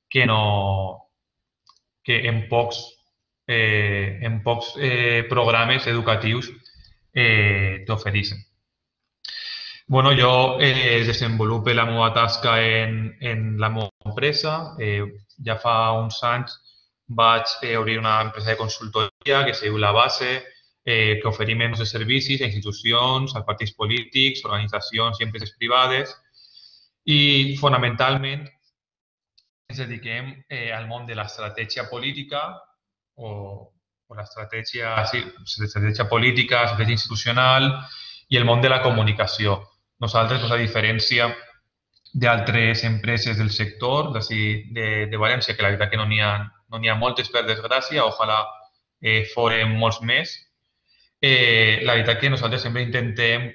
que no, que en pocs, eh, en pocs eh, programes educatius eh, t'ofereixen. Bueno, jo eh, desenvolupo la meva tasca en, en la meva empresa. Eh, ja fa uns anys vaig eh, obrir una empresa de consultoria que es diu La Base, eh, que oferim els servicis a institucions, a partits polítics, organitzacions i empreses privades. I fonamentalment ens dediquem eh, al món de l'estratègia política o, o l'estratègia sí, estratègia política, estratègia institucional i el món de la comunicació. Nosaltres, doncs, a diferència d'altres empreses del sector de, de València, que la veritat que no n'hi ha, no n'hi ha moltes, per desgràcia, ojalà eh, foren molts més, eh, la veritat que nosaltres sempre intentem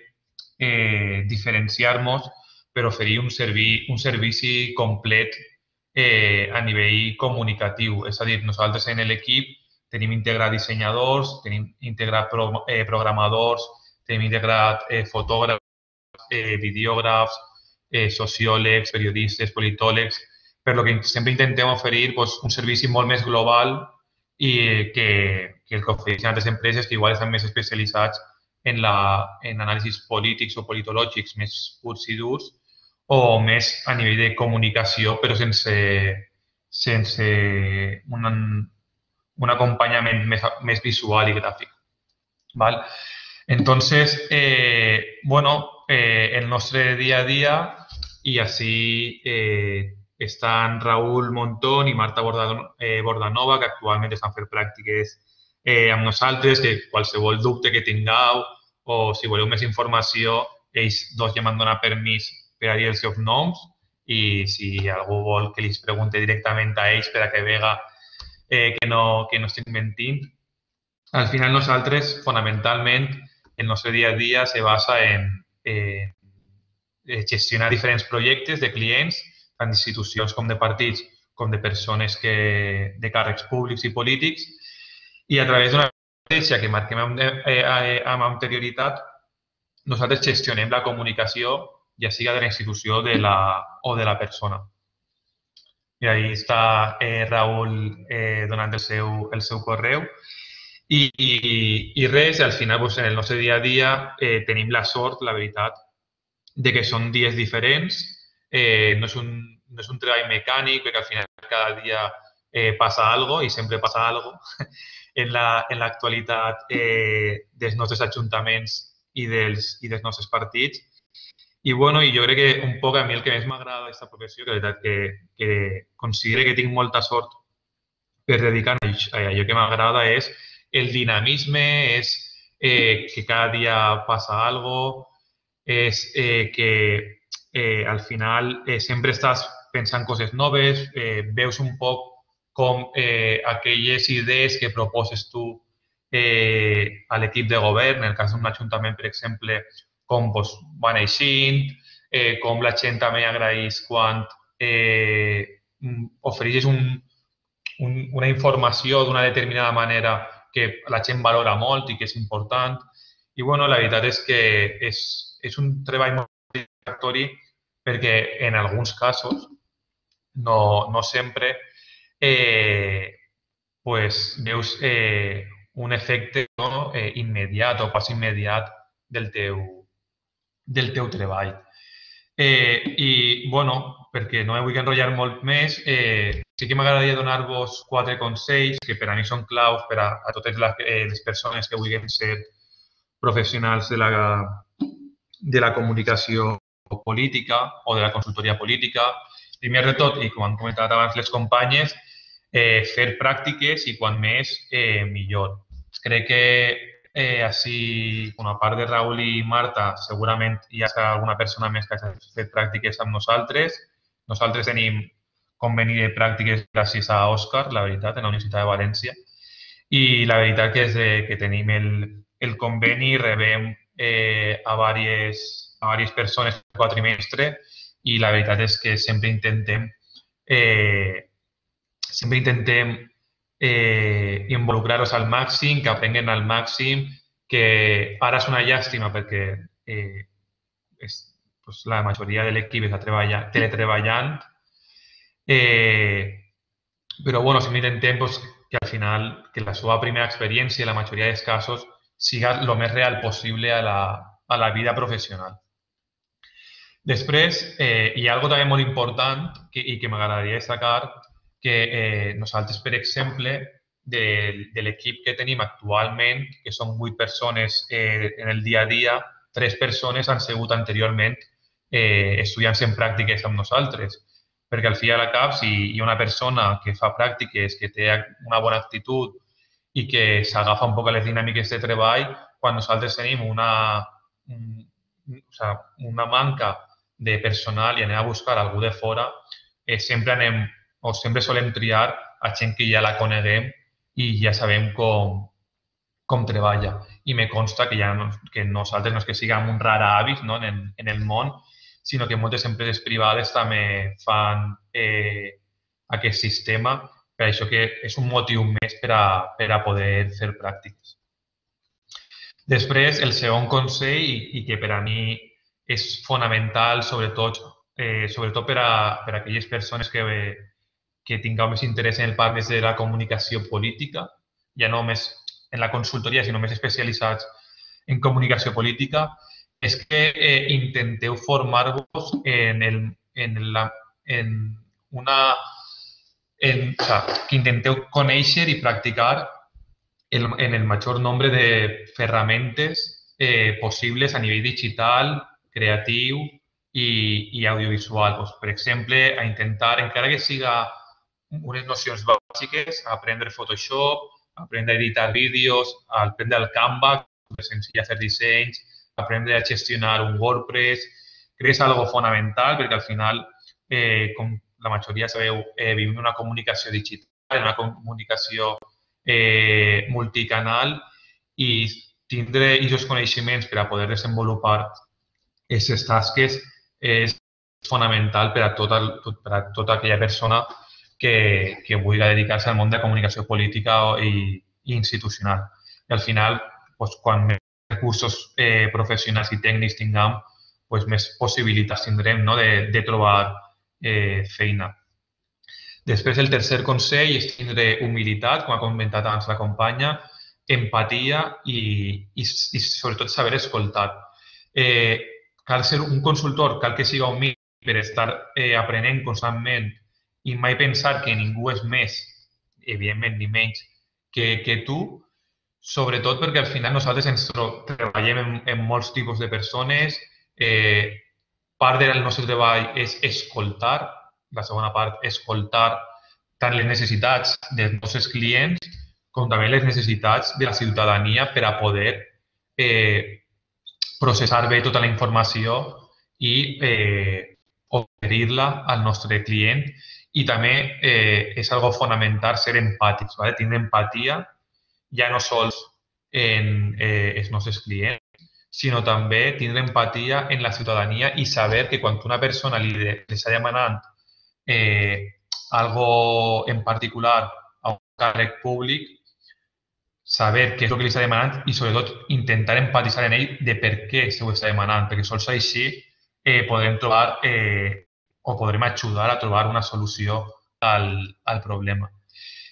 eh, diferenciar-nos per oferir un, servi, un servici complet eh, a nivell comunicatiu. És a dir, nosaltres en l'equip tenim integrat dissenyadors, tenim integrat pro, eh, programadors, tenim integrat eh, fotògrafs, eh, videògrafs, eh, sociòlegs, periodistes, politòlegs, per lo que sempre intentem oferir pues, un servici molt més global i que, que el que ofereixen altres empreses que igual estan més especialitzats en, la, en anàlisis polítics o politològics més purs i durs o més a nivell de comunicació, però sense, sense un, un acompanyament més, més visual i gràfic. ¿Vale? Entonces, eh, bueno, eh, el nostre dia a dia, i així eh, estan Raül Montón i Marta Bordanova, que actualment estan fent pràctiques eh, amb nosaltres, que qualsevol dubte que tingueu o si voleu més informació, ells dos ja m'han donat permís per a dir els seus noms i si algú vol que els pregunte directament a ells per a que vega eh, que, no, que no estic mentint. Al final nosaltres, fonamentalment, el nostre dia a dia se basa en eh, gestionar diferents projectes de clients, tant d'institucions com de partits, com de persones que, de càrrecs públics i polítics, i a través d'una estratègia que marquem amb, eh, amb anterioritat, nosaltres gestionem la comunicació, ja siga de la institució de la, o de la persona. I ahí està eh, Raül eh, donant el seu, el seu correu. I, i, i res, al final, doncs, en el nostre dia a dia eh, tenim la sort, la veritat, de que són dies diferents. Eh, no, és un, no és un treball mecànic, perquè al final cada dia eh, passa alguna cosa i sempre passa alguna cosa en l'actualitat la, eh, dels nostres ajuntaments i dels, i dels nostres partits. I, bueno, i jo crec que un poc a mi el que més m'agrada d'aquesta professió, que la veritat que, que considero que tinc molta sort per dedicar-me a allò que m'agrada, és el dinamisme, és eh, que cada dia passa alguna cosa, és eh, que eh, al final eh, sempre estàs pensant coses noves, eh, veus un poc com eh, aquelles idees que proposes tu eh, a l'equip de govern, en el cas d'un ajuntament, per exemple, com doncs, van eixint, eh, com la gent també agraeix quan eh, ofereixes un, un, una informació d'una determinada manera que la gent valora molt i que és important. I bueno, la veritat és que és, és un treball molt satisfactori perquè en alguns casos, no, no sempre, eh, pues, veus eh, un efecte no, eh, immediat o pas immediat del teu, del teu treball. Eh, I, bueno, perquè no me vull enrotllar molt més, eh, sí que m'agradaria donar-vos quatre consells que per a mi són claus per a, a totes les, eh, les persones que vulguin ser professionals de la, de la comunicació política o de la consultoria política. Primer de tot, i com han comentat abans les companyes, eh, fer pràctiques i quan més, eh, millor. Crec que eh, així, com a part de Raül i Marta, segurament hi ha alguna persona més que ha fet pràctiques amb nosaltres. Nosaltres tenim conveni de pràctiques gràcies a Òscar, la veritat, en la Universitat de València. I la veritat que és de, que tenim el, el conveni, rebem eh, a diverses a diverses persones per quadrimestre i la veritat és que sempre intentem eh, sempre intentem eh, involucrar-los al màxim, que aprenguen al màxim, que ara és una llàstima perquè eh, és, pues, la majoria de l'equip està treballant, teletreballant, eh, però bueno, sempre intentem pues, que al final que la seva primera experiència, la majoria dels casos, siga el més real possible a la, a la vida professional. Després, eh, hi ha algo també molt important que, i que m'agradaria destacar, que eh, nosaltres, per exemple, de, de l'equip que tenim actualment, que són vuit persones eh, en el dia a dia, tres persones han sigut anteriorment eh, estudiants en pràctiques amb nosaltres. Perquè al fi i al cap, si hi ha una persona que fa pràctiques, que té una bona actitud i que s'agafa un poc a les dinàmiques de treball, quan nosaltres tenim una, o sigui, una manca de personal i anem a buscar algú de fora, eh, sempre anem o sempre solem triar a gent que ja la coneguem i ja sabem com, com treballa. I me consta que, ja no, que nosaltres no és que siguem un rara avis no, en, en el món, sinó que moltes empreses privades també fan eh, aquest sistema, per això que és un motiu més per a, per a poder fer pràctiques. Després, el segon consell, i que per a mi és fonamental, sobretot, eh, sobretot per, a, per a aquelles persones que, que tingueu més interès en el part més de la comunicació política, ja no només en la consultoria, sinó més especialitzats en comunicació política, és que eh, intenteu formar-vos en, el, en, la, en una... En, o sea, que intenteu conèixer i practicar el, en el major nombre de ferramentes eh, possibles a nivell digital, creatiu i, i audiovisual. Pues, per exemple, a intentar, encara que siga unes nocions bàsiques, aprendre Photoshop, aprendre a editar vídeos, aprendre el Canva, que és senzill fer dissenys, aprendre a gestionar un WordPress. Crec que és algo fonamental perquè al final, eh, com la majoria sabeu, eh, vivim una comunicació digital, una comunicació eh, multicanal i tindre aquests coneixements per a poder desenvolupar aquestes tasques és fonamental per a tota, per a tota aquella persona que, que vulgui dedicar-se al món de la comunicació política i, i institucional. I al final, doncs, quan més recursos eh, professionals i tècnics tinguem, doncs, més possibilitats tindrem no, de, de trobar eh, feina. Després, el tercer consell és tindre humilitat, com ha comentat abans la companya, empatia i, i, i sobretot saber escoltar. Eh, cal ser un consultor, cal que siga humil per estar eh, aprenent constantment i mai pensar que ningú és més, evidentment, ni menys, que, que tu, sobretot perquè al final nosaltres ens treballem en, en molts tipus de persones, eh, part del nostre treball és escoltar, la segona part, escoltar tant les necessitats dels nostres clients com també les necessitats de la ciutadania per a poder eh, processar bé tota la informació i eh, oferir-la al nostre client. I també eh, és algo fonamental ser empàtics, ¿vale? Tindre empatia ja no sols en eh, els nostres clients, sinó també tindre empatia en la ciutadania i saber que quan una persona li, li està demanant eh, algo en particular a un càrrec públic, saber què és el que li està demanant i, sobretot, intentar empatitzar en ell de per què se ho està demanant, perquè sols així eh, podrem trobar eh, o podrem ajudar a trobar una solució al, al problema.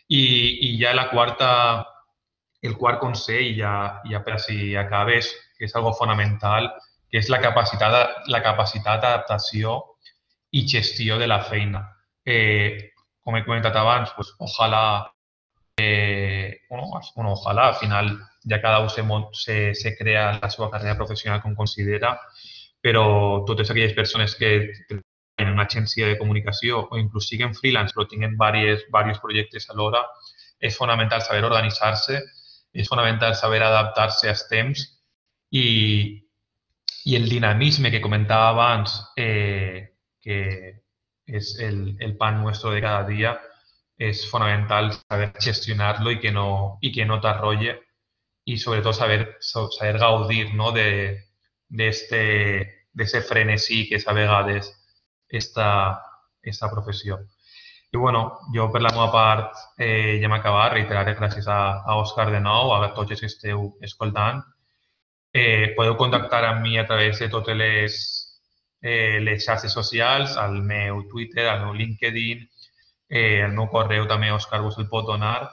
I, i ja la quarta, el quart consell, ja, ja per si acabes, que és algo fonamental, que és la capacitat, la capacitat d'adaptació i gestió de la feina. Eh, com he comentat abans, pues, ojalà, eh, bueno, bueno, ojalà al final ja cada un se, se, se crea la seva carrera professional com considera, però totes aquelles persones que tenen una agència de comunicació o inclús siguen freelance però tinguen diversos projectes alhora, és fonamental saber organitzar-se, és fonamental saber adaptar-se als temps i, i el dinamisme que comentava abans, eh, que és el, el pan nuestro de cada dia, és fonamental saber gestionar-lo i que no, i que no t'arrolle i sobretot saber, saber gaudir, no, de, d'este, d'ese frenesí que és a vegades esta, esta professió. I bueno, jo per la meva part eh, ja hem acabat, reiterar gràcies a, a Òscar de nou, a tots els que esteu escoltant. Eh, podeu contactar amb mi a través de totes les, eh, les xarxes socials, al meu Twitter, al meu LinkedIn, eh, el meu correu també Òscar vos el pot donar.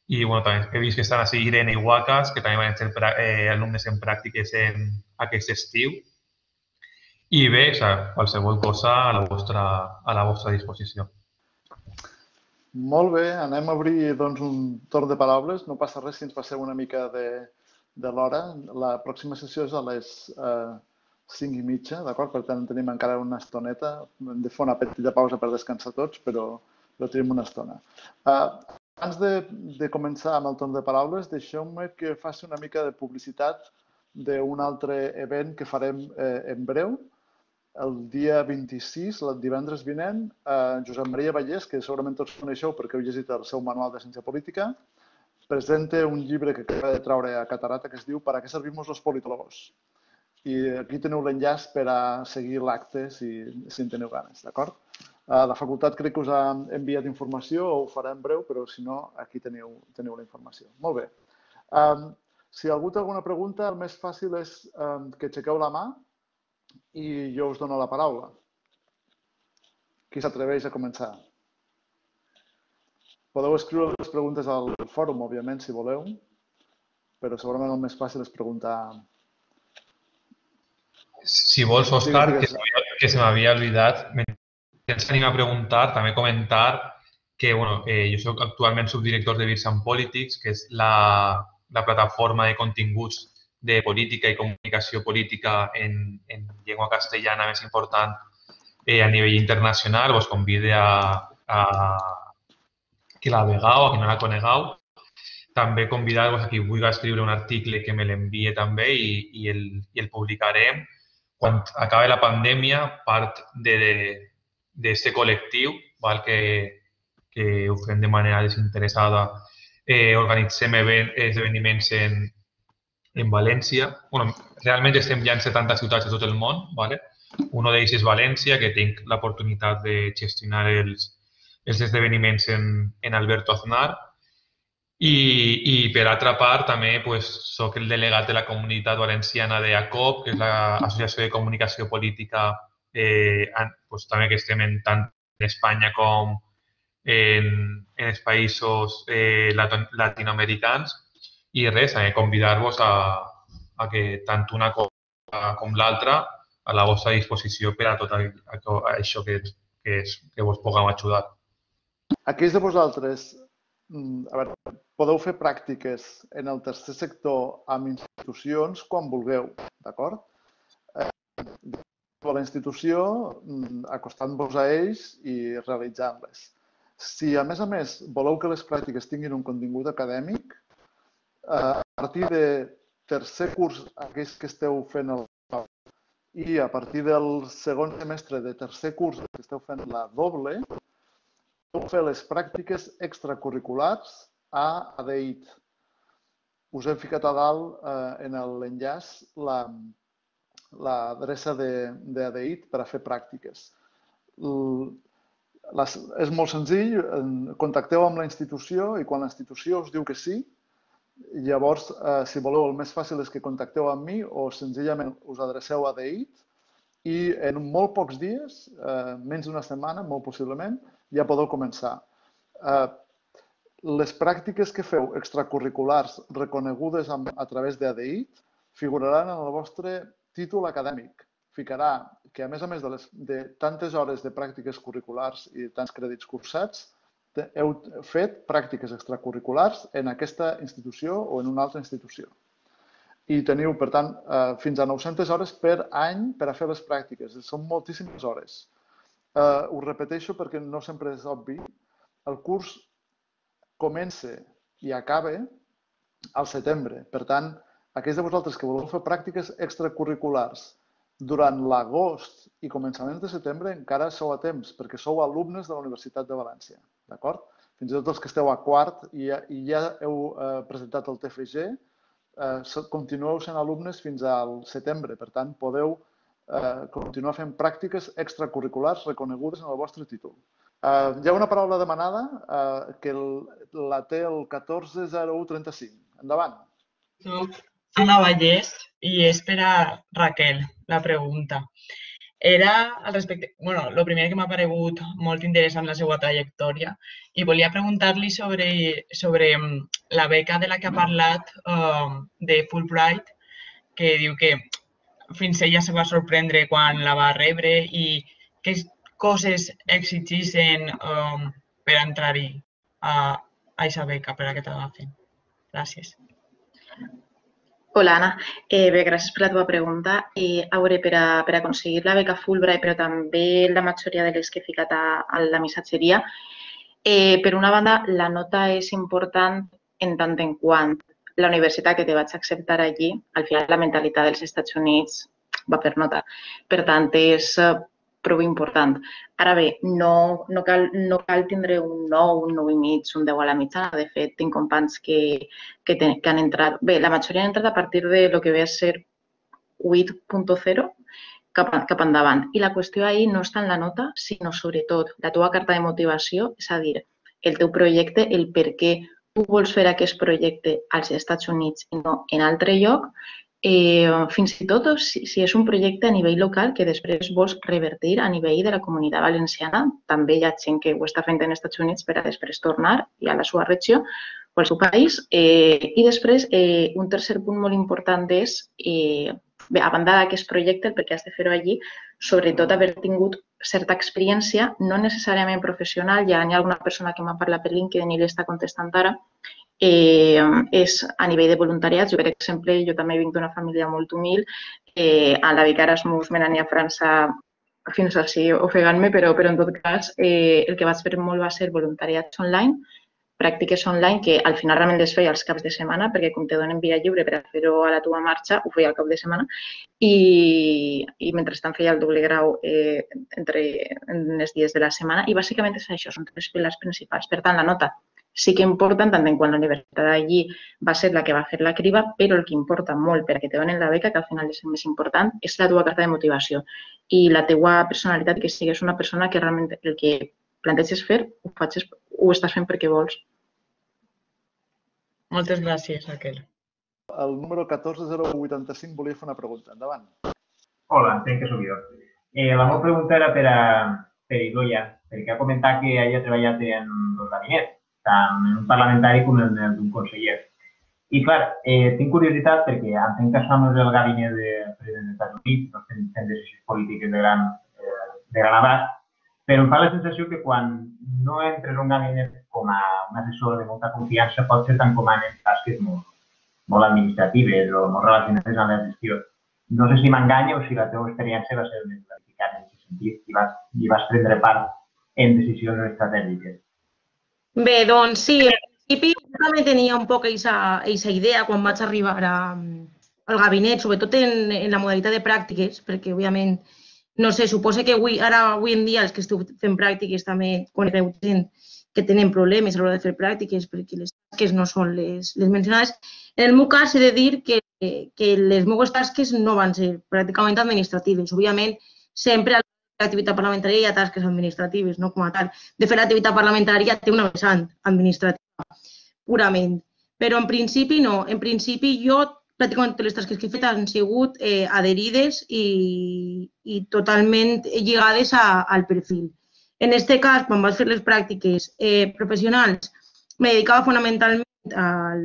I bueno, també he vist que estan així Irene i Wacas, que també van ser eh, alumnes en pràctiques en aquest estiu. I bé, o sigui, qualsevol cosa a la vostra, a la vostra disposició. Molt bé, anem a obrir doncs, un torn de paraules. No passa res si ens passeu una mica de, de l'hora. La pròxima sessió és a les eh, cinc i mitja, d'acord? Per tant, tenim encara una estoneta. Hem de fer una petita pausa per descansar tots, però, però tenim una estona. Eh, abans de, de començar amb el torn de paraules, deixeu-me que faci una mica de publicitat d'un altre event que farem eh, en breu. El dia vint-i-sis, el divendres vinent, eh, Josep Maria Vallès, que segurament tots coneixeu perquè heu llegit el seu manual de ciència política, presenta un llibre que acaba de traure a Catarata que es diu «Para qué servimos los politólogos?». I aquí teniu l'enllaç per a seguir l'acte si, si en teniu ganes, d'acord? Eh, la facultat crec que us ha enviat informació, o ho farà en breu, però si no, aquí teniu, teniu la informació. Molt bé. Eh, si algú té alguna pregunta, el més fàcil és eh, que aixequeu la mà i jo us dono la paraula. Qui s'atreveix a començar? Podeu escriure les preguntes al fòrum, òbviament, si voleu, però segurament el més fàcil és preguntar... Si vols, Òscar, que, que se m'havia oblidat, ens anem a preguntar, també comentar que bueno, eh, jo soc actualment subdirector de Virs and Politics, que és la, la plataforma de continguts de política i comunicació política en, en llengua castellana més important eh, a nivell internacional. Vos convido a, a que la vegeu, a qui no la conegueu. També convidar-vos a qui vulgui escriure un article que me l'envie també i, i, el, i el publicarem. Quan acabi la pandèmia, part d'aquest col·lectiu, val, que, que ho fem de manera desinteressada, eh, organitzem esdeveniments en en València. Bueno, realment estem ja en setanta ciutats de tot el món. ¿Vale? Un d'ells és València, que tinc l'oportunitat de gestionar els, els esdeveniments en, en Alberto Aznar. I, i per altra part, també pues, soc el delegat de la comunitat valenciana de A C O P, que és l'Associació de Comunicació Política, eh, pues, també que estem en tant en Espanya com en, en els països eh, latinoamericans. I res, eh, convidar-vos a, a que tant una cosa com l'altra a la vostra disposició per a tot això que, que, és, que vos puguem ajudar. Aquells de vosaltres, a veure, podeu fer pràctiques en el tercer sector amb institucions quan vulgueu, d'acord? Eh, a la institució, acostant-vos a ells i realitzant-les. Si, a més a més, voleu que les pràctiques tinguin un contingut acadèmic, a partir de tercer curs, aquells que esteu fent el i a partir del segon semestre de tercer curs que esteu fent la doble, podeu fer les pràctiques extracurriculars a A D I T. Us hem ficat a dalt eh, en l'enllaç l'adreça de, de A D I T per a fer pràctiques. Les, és molt senzill, contacteu amb la institució i quan la institució us diu que sí, Llavors, eh, si voleu, el més fàcil és que contacteu amb mi o senzillament us adreceu a D I T i en molt pocs dies, eh, menys d'una setmana, molt possiblement, ja podeu començar. Eh, les pràctiques que feu extracurriculars reconegudes a, a través de D I T figuraran en el vostre títol acadèmic. Ficarà que, a més a més de, les, de tantes hores de pràctiques curriculars i tants crèdits cursats, heu fet pràctiques extracurriculars en aquesta institució o en una altra institució. I teniu, per tant, fins a nou-centes hores per any per a fer les pràctiques. Són moltíssimes hores. Ho repeteixo perquè no sempre és obvi. El curs comença i acaba al setembre. Per tant, aquells de vosaltres que voleu fer pràctiques extracurriculars durant l'agost i començaments de setembre encara sou a temps, perquè sou alumnes de la Universitat de València. D'acord? Fins i tot els que esteu a quart i ja, i ja heu eh, presentat el T F G, eh, continueu sent alumnes fins al setembre. Per tant, podeu eh, continuar fent pràctiques extracurriculars reconegudes en el vostre títol. Eh, hi ha una paraula demanada eh, que el, la té el catorze zero u trenta-cinc. Endavant. Soc Anna Vallès i és per a Raquel la pregunta. Era al respecte, bueno, el primer que m'ha paregut molt interessant la seva trajectòria i volia preguntar-li sobre, sobre la beca de la que ha parlat uh, de Fulbright, que diu que fins ella se va sorprendre quan la va rebre i què coses exigeixen uh, per entrar-hi a aquesta beca, per a que t'agafen. Gràcies. Hola, Anna. Eh, bé, gràcies per la teva pregunta. Eh, a veure, per, a, per aconseguir la beca Fulbright, però també la majoria de les que he ficat a, a la missatgeria, eh, per una banda, la nota és important en tant en quant la universitat que te vaig acceptar allí, al final la mentalitat dels Estats Units va per nota. Per tant, és prou important. Ara bé, no, no, cal, no cal tindre un nou, un nou i mig, un deu a la mitjana. De fet, tinc companys que, que, ten, que han entrat... Bé, la majoria han entrat a partir de lo que ve a ser vuit punt zero cap, cap endavant. I la qüestió ahí no està en la nota, sinó sobretot la teva carta de motivació, és a dir, el teu projecte, el per què tu vols fer aquest projecte als Estats Units i no en altre lloc, Eh, fins i tot si, si és un projecte a nivell local que després vols revertir a nivell de la comunitat valenciana. També hi ha gent que ho està fent en Estats Units per a després tornar i a la seva regió o al seu país. Eh, I després, eh, un tercer punt molt important és, eh, bé, a banda d'aquest projecte, perquè has de fer-ho allí, sobretot haver tingut certa experiència, no necessàriament professional. Ja hi ha alguna persona que m'ha parlat per LinkedIn i li està contestant ara, Eh, és a nivell de voluntariats. Jo, per exemple, jo també vinc d'una família molt humil. Eh, a la beca Erasmus me n'anir a França fins així ofegant-me, però, però en tot cas eh, el que vaig fer molt va ser voluntariats online, pràctiques online que al final realment les feia als caps de setmana perquè com te donen via lliure per a fer-ho a la teva marxa, ho feia al cap de setmana i, i mentrestant feia el doble grau eh, entre en els dies de la setmana i bàsicament és això, són tres pilars principals. Per tant, la nota sí que importa, tant en quant la universitat d'allí va ser la que va fer la criba, però el que importa molt per a que te donen la beca, que al final és el més important, és la teva carta de motivació i la teva personalitat, que sigues una persona que realment el que planteges fer ho, facis, ho estàs fent perquè vols. Moltes gràcies, Raquel. El número catorze zero u vuitanta-cinc volia fer una pregunta. Endavant. Hola, entenc que sóc jo. Eh, la meva pregunta era per a per Idoia, perquè ha comentat que ella ha treballat en dos gabinets, tant en un parlamentari com en el d'un conseller. I, clar, eh, tinc curiositat perquè entenc que això no és el gabinet de president dels Estats Units, no estem fent decisions polítiques de gran, eh, de gran abast, però em fa la sensació que quan no entres a un gabinet com a un assessor de molta confiança pot ser tan comanen tasques molt, molt administratives o molt relacionades amb la gestió. No sé si m'enganya o si la teva experiència va ser més clarificada en aquest sentit i vas, i vas prendre part en decisions estratègiques. Bé, doncs sí, en principi també tenia un poc aquesta idea quan vaig arribar a, al gabinet, sobretot en, en la modalitat de pràctiques, perquè, òbviament, no sé, suposo que avui, ara, avui en dia, els que esteu fent pràctiques també conegueu gent que tenen problemes a l'hora de fer pràctiques perquè les tasques no són les, les mencionades. En el meu cas, he de dir que, que les meves tasques no van ser pràcticament administratives. Òbviament, sempre a l'activitat parlamentària hi ha tasques administratives, no com a tal. De fet, l'activitat parlamentària té una vessant administrativa, purament. però en principi no. En principi jo pràcticament totes les tasques que he fet han sigut eh, adherides i, i totalment lligades a, al perfil. En aquest cas, quan vaig fer les pràctiques eh, professionals, me dedicava fonamentalment al...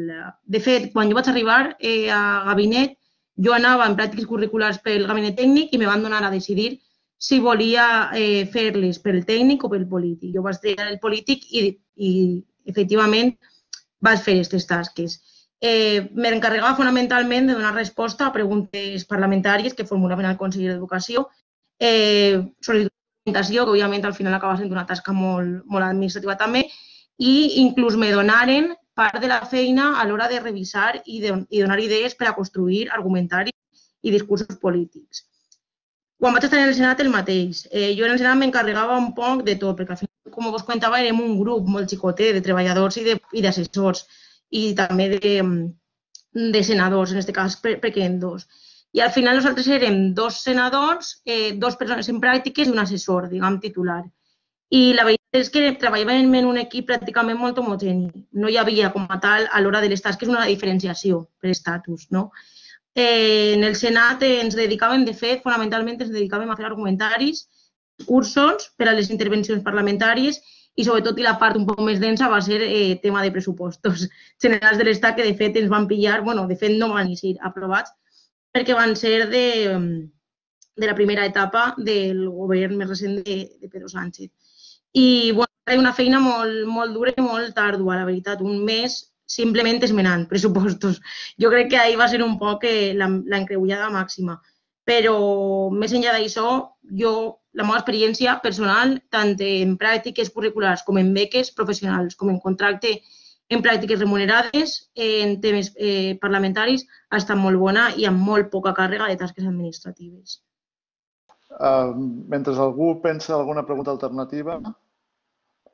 De fet, quan jo vaig arribar eh, a gabinet, jo anava en pràctiques curriculars pel gabinet tècnic i me van donar a decidir si volia eh, fer-les pel tècnic o pel polític. Jo vaig triar el polític i, i efectivament, vaig fer aquestes tasques. Eh, M'encarregava fonamentalment de donar resposta a preguntes parlamentàries que formulaven el Consell d'Educació, eh, sol·licitud de documentació, que òbviament al final acaba sent una tasca molt, molt administrativa també, i inclús me donaren part de la feina a l'hora de revisar i, de, i donar idees per a construir argumentaris i discursos polítics. Quan vaig estar en el Senat, el mateix. Eh, jo en el Senat m'encarregava un poc de tot, perquè al final, com us comentava, érem un grup molt xicotet de treballadors i d'assessors i també de, de senadors, en aquest cas perquè eren dos. I al final nosaltres érem dos senadors, eh, dos persones en pràctiques i un assessor, diguem, titular. I la veritat és que treballàvem en un equip pràcticament molt homogeni. No hi havia, com a tal, a l'hora de les tasques, una diferenciació per estatus, no? Eh, en el Senat eh, ens dedicàvem, de fet, fonamentalment ens dedicàvem a fer argumentaris, cursos per a les intervencions parlamentàries i, sobretot, i la part un poc més densa va ser eh, tema de pressupostos generals de l'Estat, que, de fet, ens van pillar, bueno, de fet, no van ser aprovats, perquè van ser de, de la primera etapa del govern més recent de, de Pedro Sánchez. I, bueno, era una feina molt, molt dura i molt àrdua, la veritat, un mes simplement esmenant pressupostos. Jo crec que ahir va ser un poc l'encreullada màxima. Però, més enllà d'això, jo, la meva experiència personal, tant en pràctiques curriculars com en beques professionals, com en contracte en pràctiques remunerades, en temes eh, parlamentaris, ha estat molt bona i amb molt poca càrrega de tasques administratives. Uh, mentre algú pensa alguna pregunta alternativa,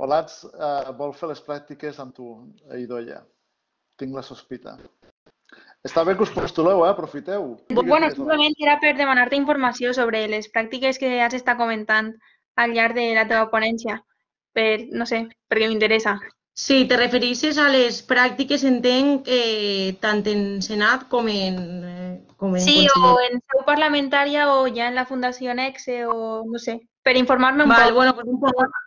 Olats uh, vol fer les pràctiques amb tu, Idoia. Tinc la sospita. Està bé que us postuleu, eh? Aprofiteu. Bueno, simplement era per demanar-te informació sobre les pràctiques que has estat comentant al llarg de la teva ponència. Per, no sé, perquè m'interessa. Sí, te refereixes a les pràctiques, entenc, eh, tant en Senat com en, eh, com en sí, Conseller. O en seu parlamentària o ja en la Fundació Nexe o no sé, per informar-me un Val, poc. Bueno, pues un poc.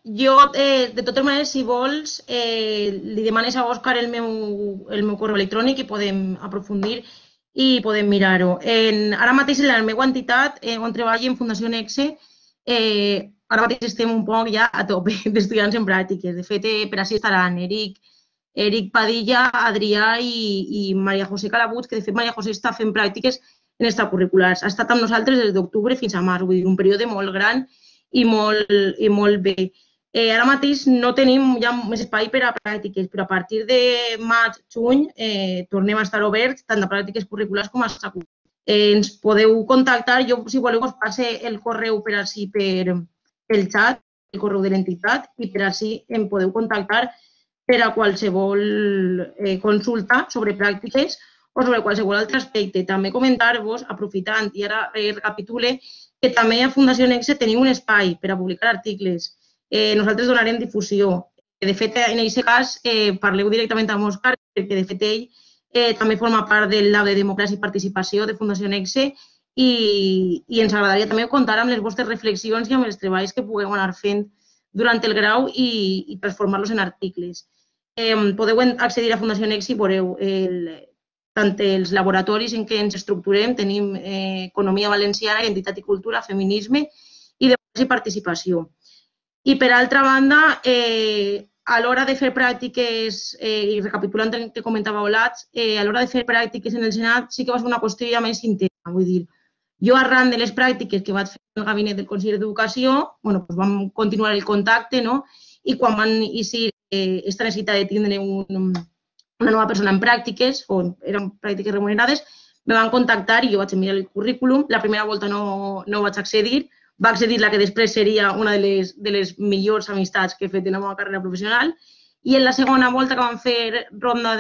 Jo, eh, de totes maneres, si vols, eh, li demanes a Òscar el meu, el meu correu electrònic i podem aprofundir i podem mirar-ho. Ara mateix, en la meva entitat, eh, on treballo en Fundació Nexe, eh, ara mateix estem un poc ja a tope d'estudiants en pràctiques. De fet, eh, per així estaran Eric, Eric Padilla, Adrià i, i Maria José Calabut, que de fet Maria José està fent pràctiques en extracurriculars. Ha estat amb nosaltres des d'octubre fins a març, vull dir, un període molt gran i molt, i molt bé. Eh, ara mateix no tenim ja més espai per a pràctiques, però a partir de maig, juny, eh, tornem a estar oberts tant a pràctiques curriculars com a extracurriculars. Eh, ens podeu contactar, jo si voleu us passe el correu per així per el xat, el correu de l'entitat, i per així em podeu contactar per a qualsevol eh, consulta sobre pràctiques o sobre qualsevol altre aspecte. També comentar-vos, aprofitant, i ara eh, recapitule, que també a Fundació Nexe teniu un espai per a publicar articles. Eh, nosaltres donarem difusió. De fet, en aquest cas, eh, parleu directament amb Òscar, perquè de fet ell eh, també forma part del Lab de Democràcia i Participació de Fundació Nexe i, i ens agradaria també comptar amb les vostres reflexions i amb els treballs que pugueu anar fent durant el grau i, i transformar-los en articles. Eh, podeu accedir a Fundació Nexe i veureu el, tant els laboratoris en què ens estructurem, tenim eh, Economia Valenciana, Identitat i Cultura, Feminisme i Democràcia i Participació. I, per altra banda, eh, a l'hora de fer pràctiques, eh, i recapitulant el que comentava Olats, eh, a l'hora de fer pràctiques en el Senat sí que va ser una qüestió ja més interna. Vull dir, jo arran de les pràctiques que vaig fer en el gabinet del Consell d'Educació, bueno, doncs vam continuar el contacte, no? I quan van iniciar eh, aquesta necessitat de tindre un, una nova persona en pràctiques, o eren pràctiques remunerades, me van contactar i jo vaig enviar el currículum. La primera volta no, no vaig accedir, va accedir la que després seria una de les, de les millors amistats que he fet en la meva carrera professional, i en la segona volta que vam fer ronda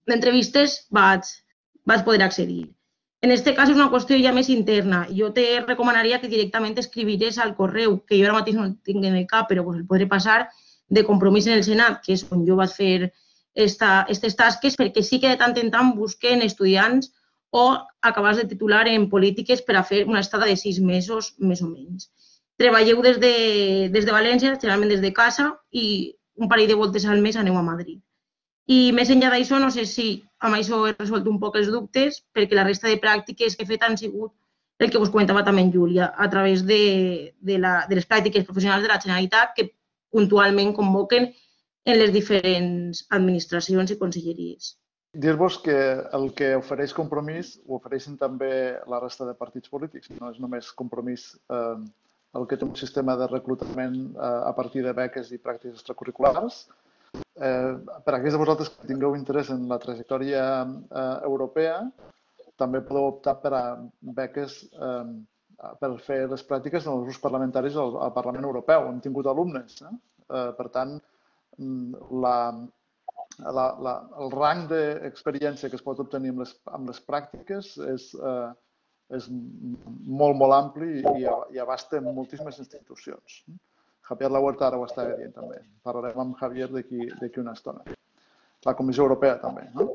d'entrevistes de, vaig, vaig poder accedir. En aquest cas és una qüestió ja més interna. Jo te recomanaria que directament escriviries al correu, que jo ara mateix no el tinc en el cap, però pues, el podré passar, de Compromís en el Senat, que és on jo vaig fer aquestes tasques perquè sí que de tant en tant busquen estudiants o acabats de titular en polítiques per a fer una estada de sis mesos més o menys. Treballeu des de, des de València, generalment des de casa, i un parell de voltes al mes aneu a Madrid. I més enllà d'això, no sé si amb això he resolt un poc els dubtes, perquè la resta de pràctiques que he fet han sigut el que us comentava també en Júlia, a través de, de, la, de les pràctiques professionals de la Generalitat que puntualment convoquen en les diferents administracions i conselleries. Dir-vos que el que ofereix Compromís ho ofereixen també la resta de partits polítics. No és només Compromís eh, el que té un sistema de reclutament eh, a partir de beques i pràctiques extracurriculars. Eh, per a aquells de vosaltres que tingueu interès en la trajectòria eh, europea, també podeu optar per a beques eh, per fer les pràctiques en els grups parlamentaris al, al Parlament Europeu. Hem tingut alumnes. Eh? Eh, per tant, la, la, la, el rang d'experiència que es pot obtenir amb les, amb les pràctiques és, eh, és molt, molt ampli i, i abasta moltíssimes institucions. Javier Lahuerta ara ho està dient també. Parlarem amb Javier d'aquí una estona. La Comissió Europea també. ¿No?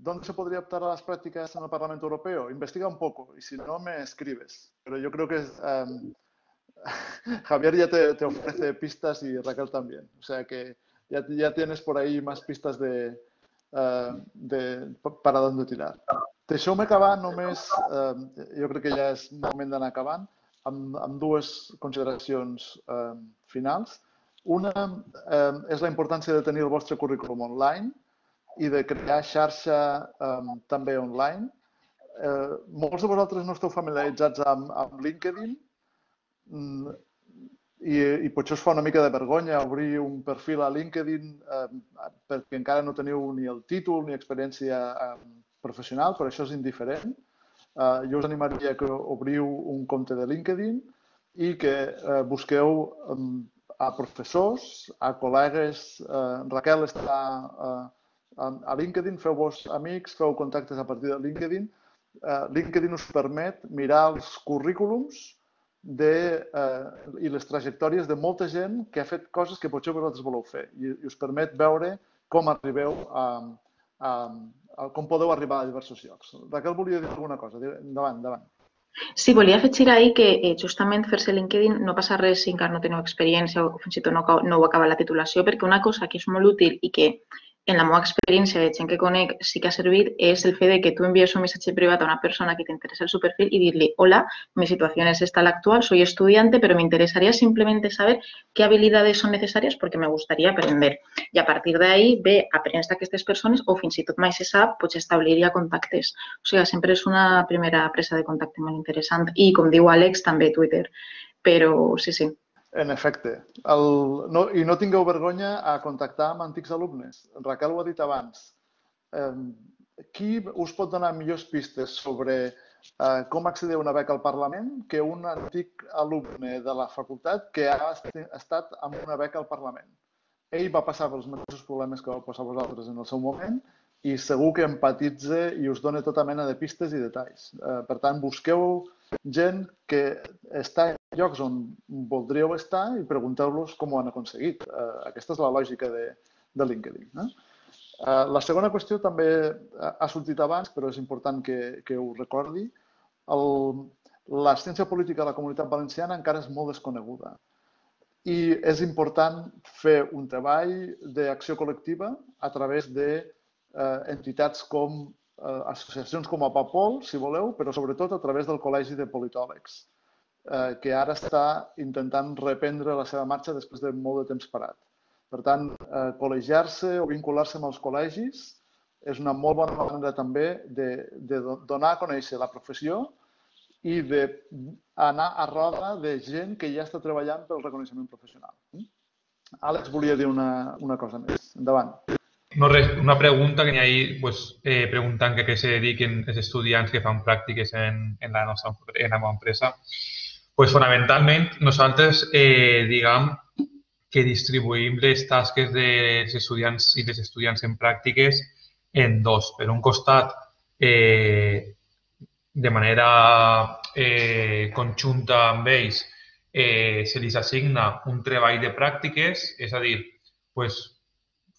¿Dónde se podría optar a las prácticas en el Parlamento Europeo? Investiga un poco y si no me escribes. Pero yo creo que um, Javier ya te, te ofrece pistas y Raquel también. O sea que ya, ya tienes por ahí más pistas de, uh, de para dónde tirar. Deixeu-me acabar només, uh, jo crec que ja és moment d'anar acabant, amb, amb dues consideracions uh, finals. Una uh, és la importància de tenir el vostre currículum online i de crear xarxa um, també online. Eh, molts de vosaltres no esteu familiaritzats amb, amb LinkedIn mm, i, i potser us fa una mica de vergonya obrir un perfil a LinkedIn eh, perquè encara no teniu ni el títol ni experiència eh, professional, però això és indiferent. Eh, jo us animaria que obriu un compte de LinkedIn i que eh, busqueu eh, a professors, a col·legues. Eh, Raquel està eh, a LinkedIn, feu-vos amics, feu contactes a partir de LinkedIn. Uh, LinkedIn us permet mirar els currículums de, uh, i les trajectòries de molta gent que ha fet coses que potser vosaltres voleu fer i, i us permet veure com arribeu a, a, a com podeu arribar a diversos llocs. Raquel volia dir alguna cosa. Endavant, endavant. Sí, volia afegir ahir que eh, justament fer-se LinkedIn no passa res si encara no teniu experiència o fins i tot no, no heu acabat la titulació, perquè una cosa que és molt útil i que en la meva experiència de gent que conec sí que ha servit és el fet de que tu envies un missatge privat a una persona que t'interessa el su perfil y dir-li: hola, mi situación es esta la actual, soy estudiante, pero me interesaría simplemente saber qué habilidades son necesarias porque me gustaría aprender. Y a partir de ahí ve, aprens d'aquestes persones o fins i tot mai se sap, pots establir ja contactes. O sigui, sempre és una primera presa de contacte molt interessant. I, com diu Àlex, també Twitter. Però sí, sí. En efecte. El, no, I no tingueu vergonya a contactar amb antics alumnes. Raquel ho ha dit abans. Eh, qui us pot donar millors pistes sobre eh, com accedir a una beca al Parlament que un antic alumne de la facultat que ha estat amb una beca al Parlament? Ell va passar pels mateixos problemes que vau passar vosaltres en el seu moment i segur que empatitza i us dona tota mena de pistes i detalls. Eh, per tant, busqueu gent que està en llocs on voldríeu estar i pregunteu-los com ho han aconseguit. Eh, aquesta és la lògica de, de LinkedIn. Eh? Eh, la segona qüestió també ha sortit abans, però és important que, que ho recordi. El, la ciència política de la Comunitat Valenciana encara és molt desconeguda i és important fer un treball d'acció col·lectiva a través de Eh, entitats com eh, associacions com a Papol, si voleu, però sobretot a través del Col·legi de Politòlegs, eh, que ara està intentant reprendre la seva marxa després de molt de temps parat. Per tant, eh, col·legiar-se o vincular-se amb els col·legis és una molt bona manera també de, de donar a conèixer la professió i d'anar a roda de gent que ja està treballant pel reconeixement professional. Àlex volia dir una, una cosa més. Endavant. No, res, una pregunta que n'hi ha ahí, pues, eh, preguntant que a què se dediquen els estudiants que fan pràctiques en, en, la nostra en la meva empresa. Pues, fonamentalment, nosaltres eh, diguem que distribuïm les tasques dels estudiants i les estudiants en pràctiques en dos. Per un costat, eh, de manera eh, conjunta amb ells, eh, se li assigna un treball de pràctiques, és a dir, pues,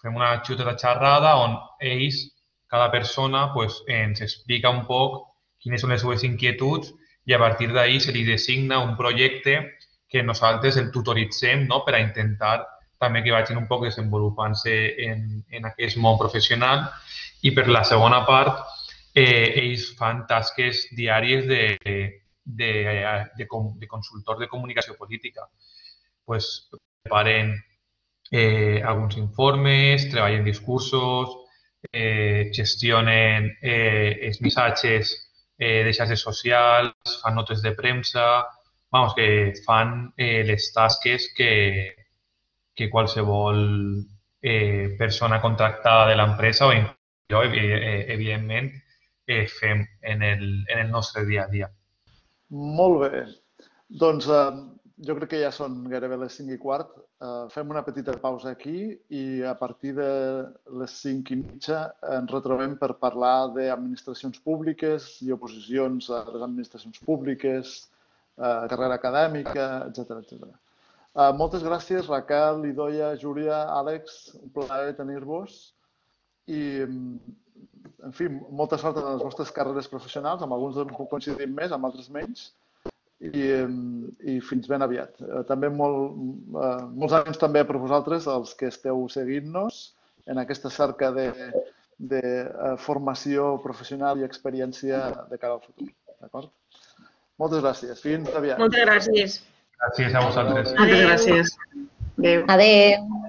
fem una xuteta xerrada on ells, cada persona, pues, ens explica un poc quines són les seves inquietuds i a partir d'ahí se li designa un projecte que nosaltres el tutoritzem, no?, per a intentar també que vagin un poc desenvolupant-se en, en aquest món professional. I per la segona part, eh, ells fan tasques diàries de, de, de, de, de consultor de comunicació política. Pues, preparen eh, alguns informes, treballen discursos, eh, gestionen eh, els missatges eh, de xarxes socials, fan notes de premsa, vamos, que fan eh, les tasques que, que qualsevol eh, persona contractada de l'empresa o jo, evidentment, eh, fem en el, en el nostre dia a dia. Molt bé. Doncs eh, jo crec que ja són gairebé les cinc i quart. Eh, fem una petita pausa aquí i a partir de les cinc i mitja ens retrobem per parlar d'administracions públiques i oposicions a les administracions públiques, eh, carrera acadèmica, etcètera, etcètera. Uh, moltes gràcies, Raquel, Idoia, Júlia, Àlex, un plaer tenir-vos i, en fi, molta sort en les vostres carreres professionals, amb alguns puc coincidir més, amb altres menys, i, i fins ben aviat. Uh, també molt, uh, molts anys també per vosaltres, els que esteu seguint-nos en aquesta cerca de, de uh, formació professional i experiència de cara al futur. D'acord? Moltes gràcies. Fins aviat. Moltes gràcies. Gràcies a vosaltres. Moltes gràcies. Adéu. Adéu.